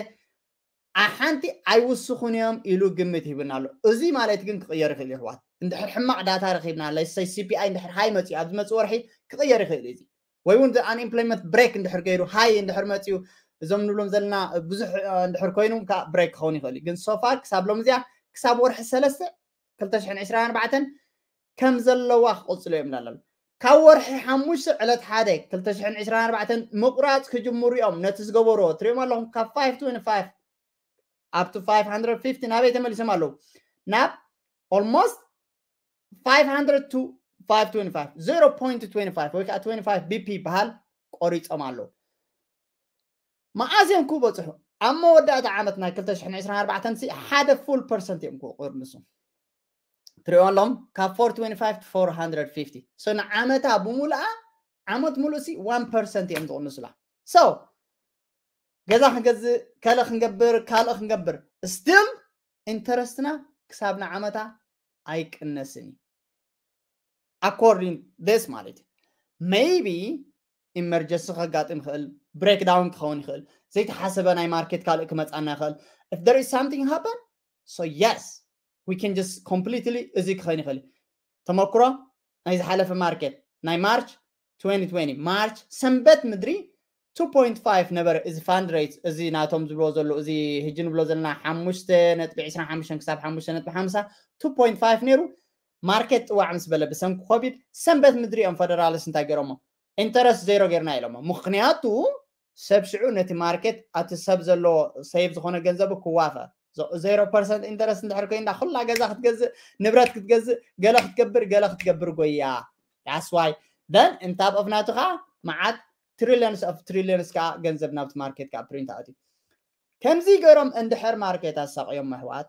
ኣሓንቲ ኣይውስኹን እዮም ኢሉ ግምት ሂብና ኣሎ። እዚ ማለት ግን ክቕየር ይኽእል እዩ ኣሕዋት። እንድሕር ሕማቕ ዳታ ረኺብና፣ let's say CPI እንድሕር ሃይ መፅዩ ኣብዚ መፅእ ወርሒ ክቕየር ይኽእል እዩ። እዚ ወይ እውን unemployment break እንድሕር ገይሩ ሃይ እንድሕር መፅዩ እዞም ንብሎም ዘለና ብዙሕ እንድሕር ኮይኑ ከዓ break ክኸውን ይኽእል እዩ። ግን so far ክሳብ ሎም እዚኣ ክሳብ ወርሒ ሰለስተ ክልተ ሽሕን ዕስራን ኣርባዕተን ከም ዘለዋ ክቕፅሉ እዮም እንዳለሉ ካብ ወርሒ ሓሙሽተ ዕለት ሓደ ክልተ ሽሕን ዕስራን ኣርባዕተን ምቑራፅ ክጅምሩ እዮም። ነቲ ዝገበርዎ ትሪኦም ኣለኹም ካብ five twenty-five up to five hundred fifty ናበይ ተመሊሶም ኣለዉ? ናብ almost five hundred to five twenty-five, zero point twenty-five ወይ ከዓ twenty-five BP ይበሃል ቆሪፆም ኣለዉ። መዓዝ እዮም ክበፅሑ? ኣብ መወዳእታ ዓመት ናይ ክልተ ሽሕን ዕስራን ኣርባዕተን ሲ ሓደ full percent እዮም ክቕንሱ። ትሪኦ ኣለኹም ካብ four twenty-five to four hundred fifty። So ንዓመታ ብሙሉኣ ዓመት ሙሉእ ሲ one percent እዮም ዝቕንሱላ። So ገዛ ክንገዝእ፣ ከለ ክንገብር፣ ካልእ ክንገብር still ኢንተረስትና ክሳብ ንዓመታ ኣይቅነስን እዩ። According this ማለት እዩ። Maybe emergency ከጋጥም ይኽእል፣ breakdown ክኸውን ይኽእል፣ ዘይተሓሰበ ናይ ማርኬት ካልእ ክመፃና ይኽእል። If there is something happen, so yes, we can just completely እዚ ክኸውን ይኽእል። ተመክሮ ናይ ዝሓለፈ ማርኬት ናይ ማርች twenty twenty ማርች ሰንበት ምድሪ two point five ነበረ። እዚ fund rate እዚ ናቶም ዝብሎ ዘሎ እዚ ህጂ ንብሎ ዘለና ሓሙሽተ ነጥቢ ዕስራን ሓሙሽተን ክሳብ ሓሙሽተ ነጥቢ ሓምሳ two point five ነይሩ። ማርኬት ጥዋዕ ምስ በለ ብሰንኪ ኮቪድ ሰንበት ምድሪ እዮም ፈደራልስ እንታይ ገይሮሞ ኢንተረስት ዜሮ ጌርና ኢሎሞ። ምክንያቱ ሰብ ሽዑ ነቲ ማርኬት ኣቲ ሰብ ዘለዎ ሴቭ ዝኾነ ገንዘቡ ክዋፈር ዜሮ ፐርሰንት ኢንተረስት እንድሕር ኮይንዳ ኩላ ገዛ ክትገዝእ ንብረት ክትገዝእ ገለ ክትገብር ገለ ክትገብር ጎያ that's why then እንታብ ኦፍ ናቱ ከዓ መዓት trillions of trillions ከዓ ገንዘብ ናብቲ ማርኬት ከዓ ፕሪንት ኣትዩ። ከምዚ ገይሮም እንድሕር ማርኬት ኣሳቕዮም ኣሕዋት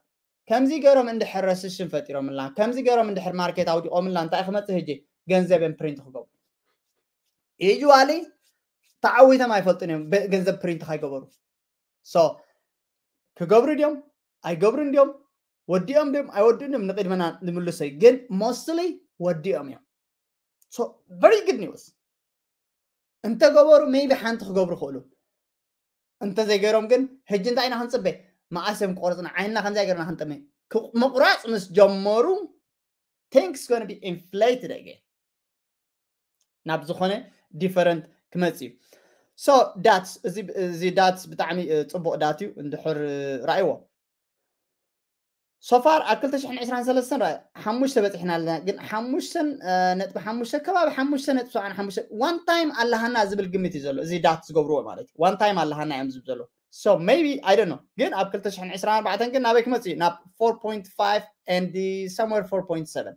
ከምዚ ገይሮም እንድሕር ረስሽን ፈጢሮምልና ከምዚ ገይሮም እንድሕር ማርኬት ኣውዲቖምልና እንታይ ክመፅእ ህጂ ገንዘብ እዮም ፕሪንት ክገብሩ። Usually ተዓዊቶም ኣይፈልጡን እዮም ገንዘብ ፕሪንት ካይገበሩ። So ክገብሩ ድዮም ኣይገብሩን ድዮም ወዲኦም ድዮም ኣይወድኡን ድዮም ንቅድመና ንምልሶ እዩ። ግን mostly ወዲኦም እዮም። So very good news። እንተገበሩ maybe ሓንቲ ክገብሩ ክእሉ እንተዘይገይሮም ግን ሕጂ እንታይ ኢና ክንፅበ? መኣስ እዮም ክቆርፅና ዓይንና ከምዚ ገርና ክንጥመ ምቁራፅ ምስ ጀመሩ things gonna be inflated again ናብ ዝኾነ different ክመፅ እዩ። So ዳትስ እዚ ዳትስ ብጣዕሚ ፅቡቅ ዳት እዩ እንድሕር ራእይዎ። So far ኣብ ክልተ ሽሕን ዕስራን ሰለስተን ሓሙሽተ በፂሕና ኣለና ግን ሓሙሽተ ነጥቢ ሓሙሽተ ከባቢ ሓሙሽተ ነጥቢ ሰብዓን ሓሙሽተ one time ኣለሃና ዝብል ግምት እዩ ዘሎ እዚ ዳት ዝገብርዎ ማለት እዩ። One time ኣለሃና እዮም ዝብል ዘሎ። So maybe I don't know ግን ኣብ ክልተ ሽሕን ዕስራን ኣርባዕተን ግን ናበይ ክመፅእ እዩ ናብ four point five and somewhere four point seven።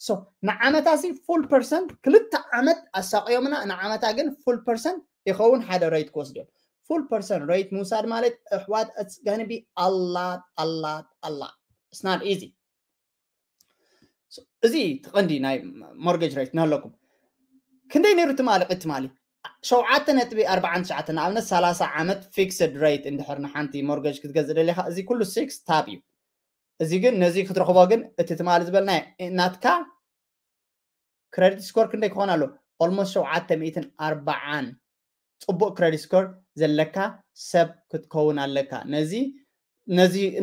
So ንዓመታ ሲ full percent ክልተ ዓመት ኣሳቅዮምና ንዓመታ ግን full percent ይኸውን ሓደ rate ክወስድ እዮም። Full percent rate ምውሳድ ማለት ኣሕዋት it's gonna be a lot a lot a lot it's not easy። እዚ ትቐንዲ ናይ mortgage rate ናለኩም ክንደይ ነይሩ ትማሊ ቅድ ትማሊ ሸውዓተ ነጥቢ ኣርባዓን ትሽዓተ ንኣብነት ሰላሳ ዓመት fixed rate እንድሕር ንሓንቲ mortgage ክትገዝእ ደሊኻ እዚ ኩሉ six top እዩ። እዚ ግን ነዚ ክትረኽቦ ግን እቲ ትማሊ ዝበልና ናትካ credit score ክንደይ ክኾን ኣሎ almost ሸውዓተ ሚእትን ኣርባዓን ፅቡቅ credit score ዘለካ ሰብ ክትከውን ኣለካ። ነዚ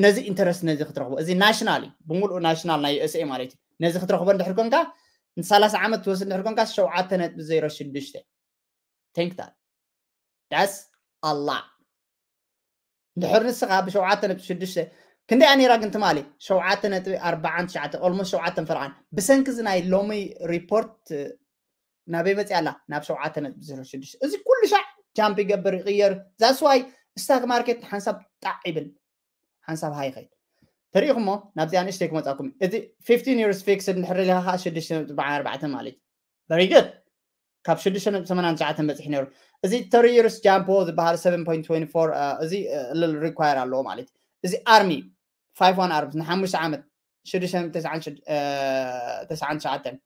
ነዚ interest ነዚ ክትረኽቦ እዚ national እዩ ብምሉእ national ናይ USA ማለት እዩ። ነዚ ክትረኽቦ እንድሕር ኮንካ ንሰላሳ ዓመት ትወስድ እንድሕር ኮንካ ሸውዓተ ነጥቢ ዜሮ ሽዱሽተ። Think that. That's a lot. እንድሕር ንስኻ ብሸውዓተ ነጥቢ ሽዱሽተ ክንደይ ነይራ ግን ትማሊ ሸውዓተ ነጥቢ ኣርባዓን ትሽዓተ ኦልሞስት ሸውዓተን ፈርዓን ብሰንኪ እዚ ናይ ሎሚ ሪፖርት ናበይ መፅያ ኣላ ናብ ሸውዓተ ነጥቢ ዜሮ ሽዱሽተ። እዚ ኩሉ ሻዕ ጃምፕ ይገብር ይቕየር። That's why stock market ሓንሳብ ጣዕ ይብል ሓንሳብ ሃይ ይኸይድ። ተሪኢኹሞ ናብዚኣ ንእሽተይ ክመፃኩም። እዚ fifteen years fixed እንድሕር ኢልካ ከዓ ሽዱሽተ ነጥቢ ኣርባዕተ ማለት እዩ። Very good። ካብ ሽዱሽተ ነጥቢ ሰማንያን ትሽዓተን በፂሑ ነይሩ። እዚ thirty years ጃምፖ ዝበሃል seven point twenty four እዚ ልል ሪኳየር ኣለዎ ማለት እዩ። እዚ ኣርሚ five one ኣርምስ ንሓሙሽተ ዓመት ሽዱሽተ ነጥቢ ተስዓን ትሽዓተን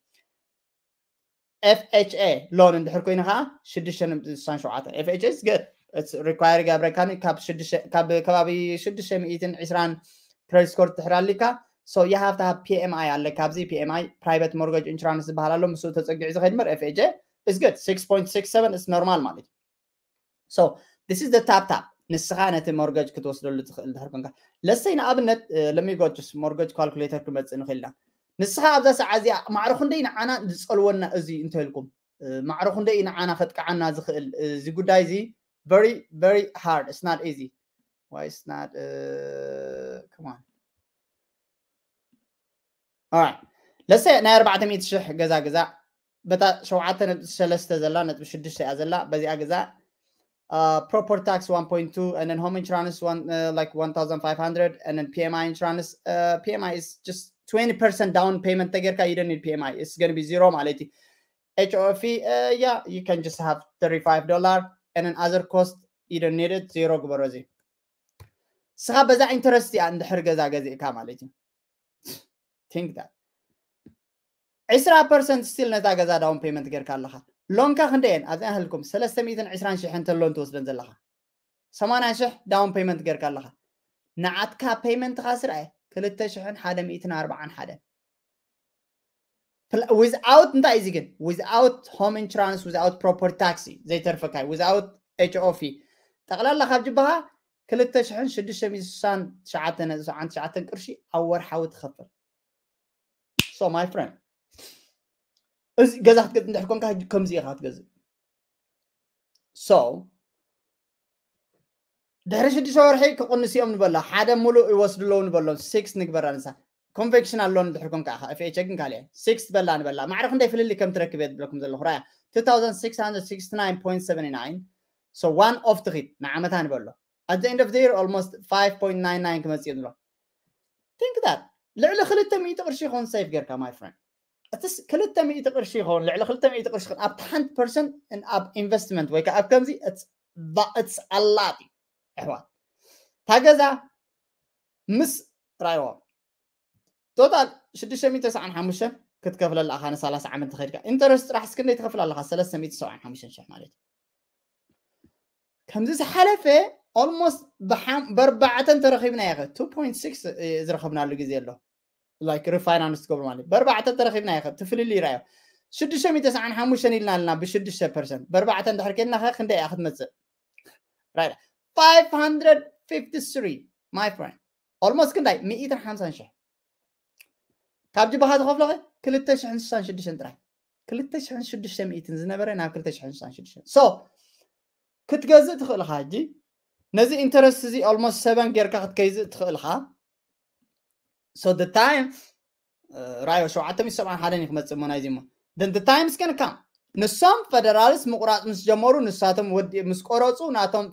FHA ሎን እንድሕር ኮይኑ ከዓ ሽዱሽተ ነጥቢ ስሳን ሸውዓተን FHA is good. It's require ይገብረካኒ ካብ ከባቢ ሽዱሽተ ሚእትን ዕስራን ክሬዲት ስኮር ትሕር ኣሊካ። So you have to have PMI ኣለካ ኣብዚ PMI private mortgage insurance ዝበሃል ኣሎ ምስኡ ተፀጊዑ ዝኸይድ እምበር FHA is good. Six point six seven is normal ማለት እዩ። So this is the top top ንስኻ ነቲ ሞርገጅ ክትወስደሉ ትኽእል ድሕር ኮንካ ለሰይ ንኣብነት let me go just mortgage calculator ክመፅእ ንኽእል ኢና። ንስኻ ኣብዛ ሰዓት እዚኣ ማዕረ ክንደይ ንዓና ዝፀልወና እዚ እንተልኩም ማዕረ ክንደይ ንዓና ከጥቅዓና ዝኽእል እዚ ጉዳይ እዚ very very hard. It's not easy. Why it's not uh, come on. Alright. Let's say ናይ ኣርባዕተ ሚእቲ ሽሕ ገዛ ገዛ በታ ሸውዓተ ነጥቢ ሰለስተ ዘላ ነጥቢ ሽዱሽተ እያ ዘላ በዚኣ ገዛ uh, property tax one point two and then home insurance one uh, like one thousand five hundred and then PMI insurance uh, PMI is just twenty percent down payment ተጌርካ you don't need PMI. It's going to be zero ማለት እዩ. HOFE uh, yeah you can just have thirty-five dollar and then other cost you don't need it. Zero ግበሮ እዚ ስኻ በዛ ኢንተረስት እያ እንድሕር ገዛ ገዚእካ ማለት እዩ። Think that ዕስራ ፐርሰንት still ነታ ገዛ down payment ጌርካ ኣለኻ። ሎንካ ክንደየን ኣብዚኣ ህልኩም ሰለስተ ሚእትን ዕስራን ሽሕን ተሎን ትወስደን ዘለኻ ሰማንያ ሽሕ down payment ጌርካ ኣለኻ። ንዓትካ ፔይመንትኻ ስርዐ ክልተ ሽሕን ሓደ ሚእትን ኣርባዓን ሓደን without እንታይ እዚ ግን without home insurance without property tax ዘይተርፈካ without HOFE ጠቕላላ ካብ ጅባኻ ክልተ ሽሕን ሽዱሽተ ሚእትን ስሳን ትሽዓተ ነጥቢ ሰብዓን ትሽዓተን ቅርሺ ኣብ ወርሓዊ ትኸፍል። So my friend እዚ ገዛ ክትገዝእ እንድሕር ኮንካ ከምዚ ኢኻ ክትገዝእ። So ድሕሪ ሽዱሽተ ወርሒ ክቕንስ እዮም ንበላ ሓደ ሙሉእ ይወስዱ ኣለዉ ንበሎም። ሲክስ ንግበራ ንሳ ኮንቬክሽን ኣሎ እንድሕር ኮንካ ኢኻ FHA ግን ካልእ ሲክስ በላ ንበላ ማዕረ ክንደይ ፍልልይ ከም ትረክብ እየ ዝብለኩም ዘለኹ ራያ two thousand six hundred sixty nine point seventy nine. So one off ትኺድ ንዓመታ ንበሎ at the end of the year almost five point nine nine ክመፅእ እዩ ንብሎ። Think that ልዕሊ ክልተ ሚእቲ ቅርሺ ይኸውን ሴፍ ጌርካ my friend። እትስ ክልተ ሚእቲ ቅርሺ ይኸውን ልዕሊ ክልተ ሚእቲ ቅርሺ ይኸውን ኣብቲ ሓንቲ ፐርሰንት ኣብ ኢንቨስትመንት ወይ ከዓ ኣብ ከምዚ it's a lot እዩ ኣሕዋት። እታ ገዛ ምስ ራይዎ ቶታል ሽዱሽተ ሚእቲ ተስዓን ሓሙሽተን ክትከፍለላ ኣኻ ንሰላሳ ዓመት ተኸድካ ኢንተረስት ጥራሕ እስክንደይ ትኸፍል ኣለኻ ሰለስተ ሚእቲ ሰብዓን ሓሙሽተን ሽሕ ማለት እዩ። ከምዚ ዝሓለፈ ኦልሞስት በርባዕተን ተረኺብና ኢኸ two point six ዝረኸብናሉ ግዜ ኣሎ። Like refinance ትገብሩ ማለት በርባዕተን ተረኺብና ኢኸ ትፍልል ይራዮ ሽዱሽተ ሚእቲ ተስዓን ሓሙሽተን ኢልና ኣለና ብሽዱሽተ ፐርሰንት በርባዕተን ድሕር ኬድና ኸ ክንደይ እያ ክትመፅእ? Right. Five hundred fifty three my friend. Almost ክንዳይ ሚእትን ሓምሳን ሽሕ ካብ ጅባኻ ዝኸፍሎ ክልተ ሽሕን ስሳን ሽዱሽተን ጥራይ ክልተ ሽሕን ሽዱሽተ ሚእትን ዝነበረ ናብ ክልተ ሽሕን ስሳን ሽዱሽተን so ክትገዝእ ትኽእል ኢኻ ሕጂ ነዚ ኢንተረስት እዚ almost ሰበን ጌርካ ክትከይዝእ ትኽእል ኢኻ። So the time ራዮ ሸውዓተ ሚእቲ ሰብዓን ሓደን እዩ ክመፅእ እሞ ናይዚ እሞ then the time is gonna come ንሶም ፈደራልስ ምቁራፅ ምስ ጀመሩ ንሳቶም ወዲ ምስ ቆረፁ ናቶም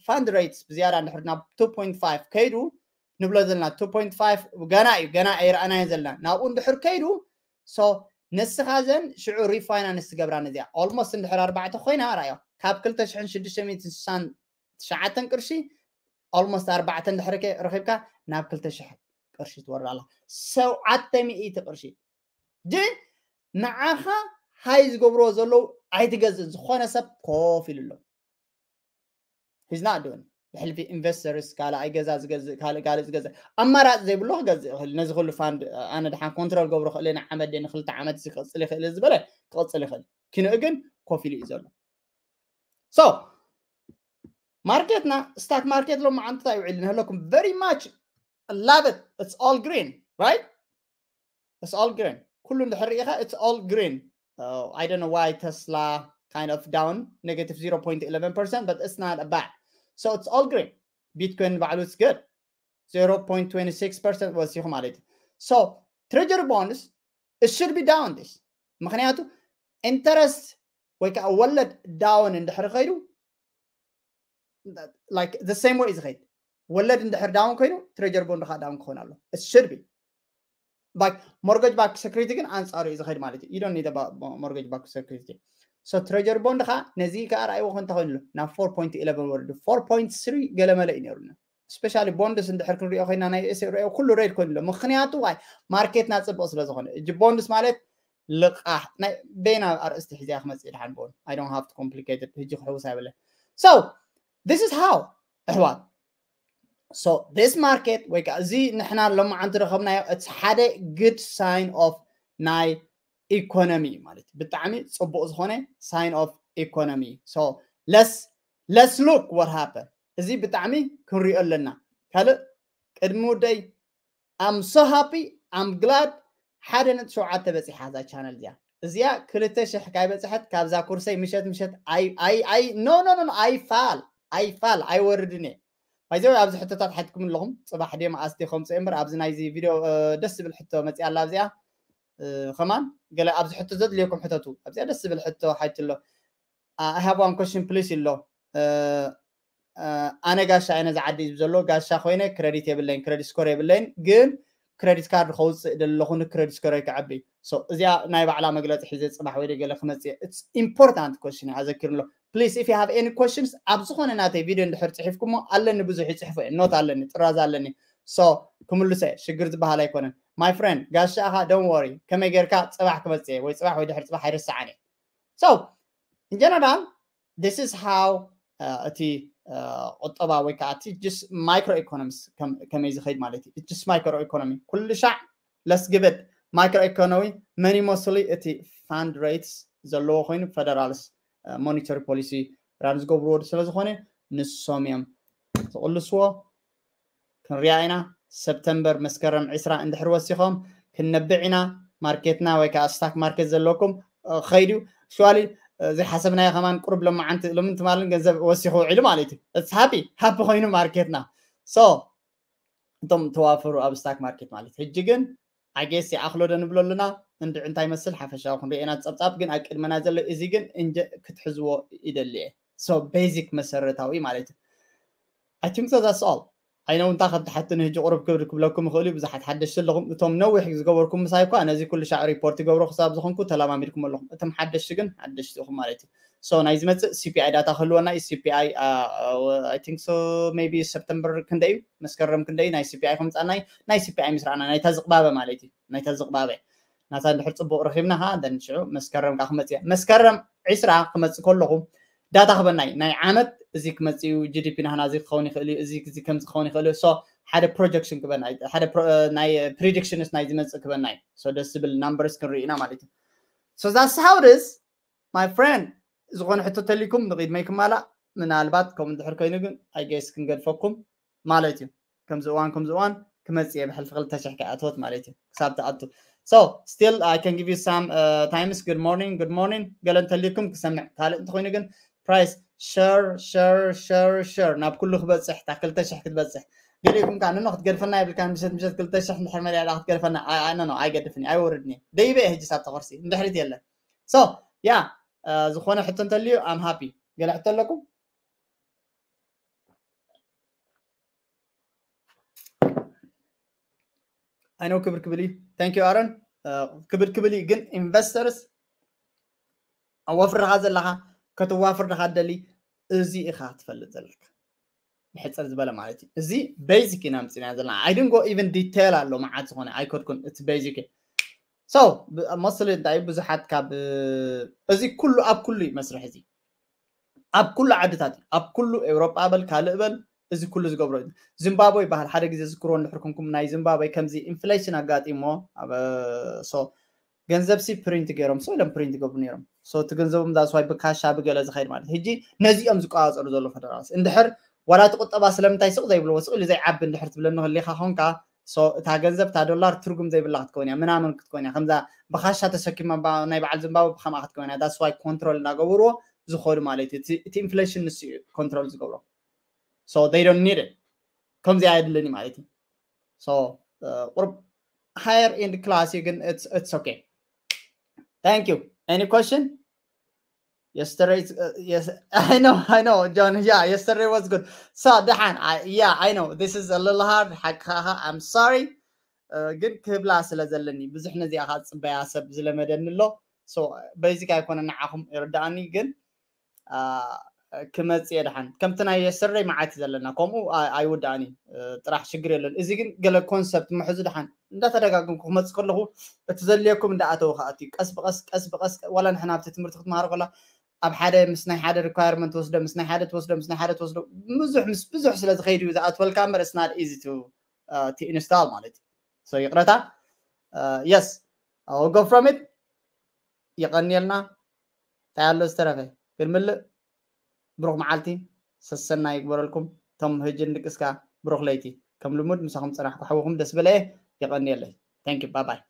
fund rates ብዝያዳ እንድሕር ናብ two point five ከይዱ ንብሎ ዘለና two point five ገና እዩ ገና ኣይረኣናዮ ዘለና ናብኡ እንድሕር ከይዱ so ንስኻ ዘን ሽዑ ሪፋይናንስ ትገብራ ነዚኣ almost እንድሕር ኣርባዕተ ኮይና ራዮ ካብ ክልተ ሽሕን ሽዱሽተ ሚእትን ስሳን ትሽዓተን ቅርሺ almost ኣርባዕተ እንድሕር ረኺብካ ናብ ክልተ ሽሕ ቅርሺ ትወርድ ኣላ። ሸውዓተ ሚእቲ ቅርሺ ግን ንዓኻ ሃይ ዝገብርዎ ዘለዉ ኣይትገዝእ ዝኾነ ሰብ ኮፍ ኢሉ ኣሎ። He's not doing ብሕልፊ ኢንቨስተርስ ካልኣይ ገዛ ዝገዝእ ካልእ ካልእ ዝገዝእ ኣማራፂ ዘይብሎ ክገዝእ ይኽእል። ነዚ ኩሉ ፋንድ ኣነ ድሓን ኮንትሮል ገብሮ ክእል ንዓመት ንክልተ ዓመት ክቕፅል ይኽእል ዝበለ ክቕፅል ይኽእል። ኪንኡ ግን ኮፍ ኢሉ እዩ ዘሎ። So ማርኬትና ስታክ ማርኬት ሎማዓንቲ እንታይ ውዒሉ ንህለኩም very much love it it's all green right it's all green. ኩሉ እንድሕር ርኢኻ it's all green. Uh, I don't know why Tesla kind of down negative zero point eleven percent, but it's not a bad. So it's all green. Bitcoin ባዕሉ it's good. Zero point twenty six percent ወሲኹ ማለት እዩ። So treasury bonds, it should be down this. ምኽንያቱ interest ወይ ከዓ ወለድ down እንድሕር ኸይዱ like the same way ዝኸይድ ወለድ እንድሕር down ኮይኑ treasury bond ከዓ down ክኾን ኣሎ። It should be like mortgage backed security ግን ኣንጻሩ እዩ ዝኸይድ ማለት እዩ። You don't need a mortgage backed security. So treasury bond ከዓ ነዚ ከዓ ርኣይዎ ከ እንተኾይኑ ኣሎ ናብ four point eleven ወርዱ four point three ገለመለ እዩ ነይሩና። Especially bonds እንድሕር ክንሪኦ ኮይና ናይ USA ርኦ ኩሉ red ኮይኑ ኣሎ። ምኽንያቱ ዋይ ማርኬትና ጽቡቕ ስለ ዝኾነ እጂ bonds ማለት ልቓሕ ናይ በይና ኣርእስቲ ሒዚያ ክመጽእ ድሓን ብኦን I don't have to complicated ህጂ ክሕውስ ኣይብለ። So this is how ኣሕዋት so this market ወይ ከዓ እዚ ንሕና ሎማዓንቲ ረኸብናዮ እቲ ሓደ good sign of ናይ economy ማለት ብጣዕሚ ጽቡቕ ዝኾነ sign of economy. So let's let's look what happen. እዚ ብጣዕሚ ክንሪኦ ኣለና። ካልእ ቅድሚ ውደይ I'm so happy, I'm glad ሓደ ነጥቢ ሸውዓተ በፂሓ እዛ ቻነል እዚኣ። እዚኣ ክልተ ሽሕ ካይበፅሐት ካብዛ ኩርሰይ ምሸት ምሸት ኣይ ኣይ ኣይ no no no ኣይፋል ኣይፋል ኣይወርድን እየ። ባይዘው ኣብዚ ሕቶታት ሓትኩም ኣለኹም ጽባሕ ድዮም ኣስቲ ከምፅኦ እምበር ኣብዚ ናይዚ ቪድዮ ደስ ዝብል ሕቶ መፅያ ኣላ ኣብዚኣ። ከማን ገለ ኣብዚ ሕቶ ዘድልየኩም ሕተቱ ኣብዚኣ ደስ ዝብል ሕቶ ሓይትሎ። I have one question please ኣሎ። ኣነ ጋሻ እየ ነዚ ዓዲ እዩ ዘሎ ጋሻ ኮይነ ክረዲት የብለይን ክረዲት ስኮር የብለይን ግን ክረዲት ካርድ ከውፅእ ደለኹ ንክረዲት ስኮር ከዕቢ እዚኣ ናይ ባዕላ መግለፂ ሒዘ ፅባሕ ወይ ገለ ክመፅእ it's important question ኣዘኪሩ ኣሎ። Please if you have any questions ኣብ ዝኾነ ናተይ ቪድዮ እንድሕር ፅሒፍኩሞ ኣለኒ ብዙሕ ይፅሕፎ እየ ኖት ኣለኒ ጥራዝ ኣለኒ። So ክምልሰ ሽግር ዝበሃል ኣይኮነን። My friend ጋሻ ኣኻ don't worry ከመይ ጌርካ ፅባሕ ክመፅእ ወይ ፅባሕ ወይ ድሕር ፅባሕ ኣይርስዓን እየ። So in general this is how እቲ ቁጠባ ወይ ከዓ እቲ just micro economics ከመይ ዝኸይድ ማለት እዩ። Just micro economy ኩሉ ሻዕ let's give it micro economy money mostly እቲ fund rates ዘለዎ ኮይኑ federals monetary policy run ዝገብርዎ ስለ ዝኾነ ንሶም እዮም ዝቕልስዎ። ክንሪኣ ኢና። ሰፕተምበር መስከረም ዕስራ እንድሕር ወሲኾም ክንነብዕ ኢና። ማርኬትና ወይ ከዓ ስታክ ማርኬት ዘለኩም ኸይዱ ሽዋሊ ዘይሓሰብናዮ ከማን ቁሩብ ሎማዓንቲ ሎምን ትማልን ገንዘብ ወሲኹ ውዒሉ ማለት እዩ። It's happy happy ኮይኑ ማርኬትና። So እቶም ተዋፈሩ ኣብ ስታክ ማርኬት ማለት ሕጂ ግን I guess ይኣኽሎ ዶ ንብሎ ኣለና። እንድዒ እንታይ መስል ሓፈሻዊ ክንሪኦ ኢና ጸብጻብ ግን ኣብ ቅድመና ዘሎ እዚ ግን እንጀ ክትሕዝዎ ይደሊ እየ። So basic መሰረታዊ ማለት እዩ። I think so that's all. I know እንታይ ከም ትሓትኒ ሕጂ ቁሩብ ክብር ክብለኩም ይኽእል እዩ ብዙሓት ሓደሽቲ ኣለኹም እቶም ነዊሕ ዝገበርኩም ምሳይ እኳ ነዚ ኩሉ ሻዕ ሪፖርት ይገብሮ ክሳብ ዝኾንኩ ተለማሚድኩም ኣለኹም እቶም ሓደሽቲ ግን ሓደሽቲ ኢኹም ማለት እዩ። So ናይ ዝመፅእ CPI data ክህልወና እዩ CPI I think so maybe ሰፕተምበር ክንደይ እዩ መስከረም ክንደይ ናይ CPI ከምፃና እዩ ናይ CPI ምስ ረኣና ናይታ ዝቕባበ ማለት እዩ ናይታ ዝቕባበ ናታ እንድሕር ፅቡቕ ረኺብና ከዓ then ሽዑ መስከረም ከዓ ክመፅእ እያ መስከረም ዕስራ ክመፅእ ከለኹ data ክበና እዩ ናይ ዓመት እዚ ክመፅእ እዩ GDP ናህና እዚ ክኸውን ይኽእል እዩ እዚ እዚ ከምዚ ክኸውን ይኽእል እዩ so ሓደ projection ክበና እዩ ሓደ ናይ predictions ናይ ዝመፅእ ክበና እዩ so ደስ ዝብል numbers ክንርኢ ኢና ማለት እዩ so that's how it is my friend ዝኾነ ሕቶ ተሊኩም ንቕድመይ ክማላእ ምናልባት ከምኡ እንድሕር ኮይኑ ግን I guess ክንገድፈኩም ማለት እዩ ከምዚ እዋን ከምዚ እዋን ክመፅእ እየ ብሕልፊ ክልተ ሽሕ ከይኣተወት ማለት እዩ ክሳብ ትኣቱ so still I can give you some uh, times good morning good morning ገለ እንተልዩኩም ክሰምዕ ካልእ እንተኮይኑ ግን price share share share share ናብ ኩሉ ክበፅሕ እታ ክልተ ሽሕ ክትበፅሕ ገሊእኩም ከዓ ንኖ ክትገድፈና የብልካ ምሸት ምሸት ክልተ ሽሕ እንድሕር መሊኣ ክትገድፈና ኖ ኣይገድፍን ኣይወርድን እየ ደይበ እየ ሕጂ ሳብ ተኸርሲ እንድሕሪት የለን so yeah ዝኾነ ሕቶ እንተልዩ I'm happy ገለ ሕቶ ኣለኩም I know ክብር ክብል እዩ thank you ኣረን ክብር ክብል እዩ ግን investors ኣብ ወፍርኻ ዘለኻ ከተዋፍር ዲኻ ትደሊ እዚ ኢኻ ትፈልጥ ዘለካ ብሕፅር ዝበለ ማለት እዩ እዚ basic ኢና ምፅና ዘለና I didn't go even detail ኣሎ መዓት ዝኾነ ኣይከድኩን እቲ basic so mostly እንታይ ብዙሓት ካብ እዚ ኩሉ ኣብ ኩሉ እዩ መስርሕ እዚ ኣብ ኩሉ ዓድታት እዩ ኣብ ኩሉ ኤውሮጳ በል ካልእ በል እዚ ኩሉ ዝገብሮ እዩ ዚምባብወ ይበሃል ሓደ ግዜ ዝክርዎ እንድሕር ኩንኩም ናይ ዚምባብወ ከምዚ inflation ኣጋጢሞ so ገንዘብ ሲ print ገይሮም so ኢሎም print ይገብሩ ነይሮም so እቲ ገንዘቦም that's why ብካሻ ብገለ ዝኸይድ ማለት ሕጂ ነዚኦም ዝቆፃፀሩ ዘሎ federals እንድሕር ዋላ እቲ ቁጠባ ስለምንታይ ስቕ ዘይብልዎ ስቕ ኢሉ ዘይዓቢ እንድሕር ትብለኒ ክሊኻ ኾንካ እታ ገንዘብ እታ ዶላር ትርጉም ዘይብላ ክትከውን እያ፣ ምናምን ክትከውን እያ። ከምዛ ብካሻ ተሰኪማ ናይ በዓል ዝምባብወ ብከምኣ ክትከውን እያ። That's why control እናገበርዎ ዝኸዱ ማለት እዩ። እቲ inflation ንሱ እዩ control ዝገብሮ። So they don't need it። ከምዚ ኣየድልን እዩ ማለት እዩ። So ቁርብ higher end class እዩ ግን it's okay. Thank you. Any question? Yesterday, uh, yes, I know, I know, John. Yeah, yesterday was good. So ደሓን፣ yeah, I know this is a little hard. ሓቅኻ፣ I'm sorry. ግን ክብላ ስለ ዘለኒ ብዙሕ ነዚኣ ከዓ ዝፅበያ ሰብ ዝለመደኒ ኣሎ። So basic ኣይኮነ ንዓኹም ይርዳእኒ፣ ግን ክመፅእ እየ ደሓን። ከምቲ ናይ yesterday መዓት እዩ ዘለና፣ ከምኡ ኣይውዳእን እዩ። ጥራሕ ሽግር የለን። እዚ ግን ገለ concept ምሕዙ ደሓን። እንዳተደጋገምኩ ክመፅእ ከለኹ እቲ ዘድልየኩም እንዳኣተወ ከኣቱ እዩ። ቀስ ብቐስ ቀስ ብቐስ ዋላ ንሕና ኣብቲ ትምህርቲ ክትመሃር ከላ ኣብ ሓደ ምስ ናይ ሓደ requirement ትወስዶ፣ ምስ ናይ ሓደ ትወስዶ፣ ምስ ናይ ሓደ ትወስዶ፣ ብዙሕ ምስ ብዙሕ ስለ ዝኸይድ እዩ ዝኣትወልካ እምበር it's not easy to install ማለት እዩ። So ይቕረታ። Yes, go from it። የቐንየልና። እንታይ ኣሎ ዝተረፈ? ክንምልእ። ብሩኽ መዓልቲ ሰሰና ይግበረልኩም። እቶም ህጂ ንድቅስካ ብሩኽ ለይቲ። ከም ልሙድ ምሳኹም ጸናሕኩ ሓውኹም ደስ በለየ። የቐንየለይ። Thank you. Bye bye.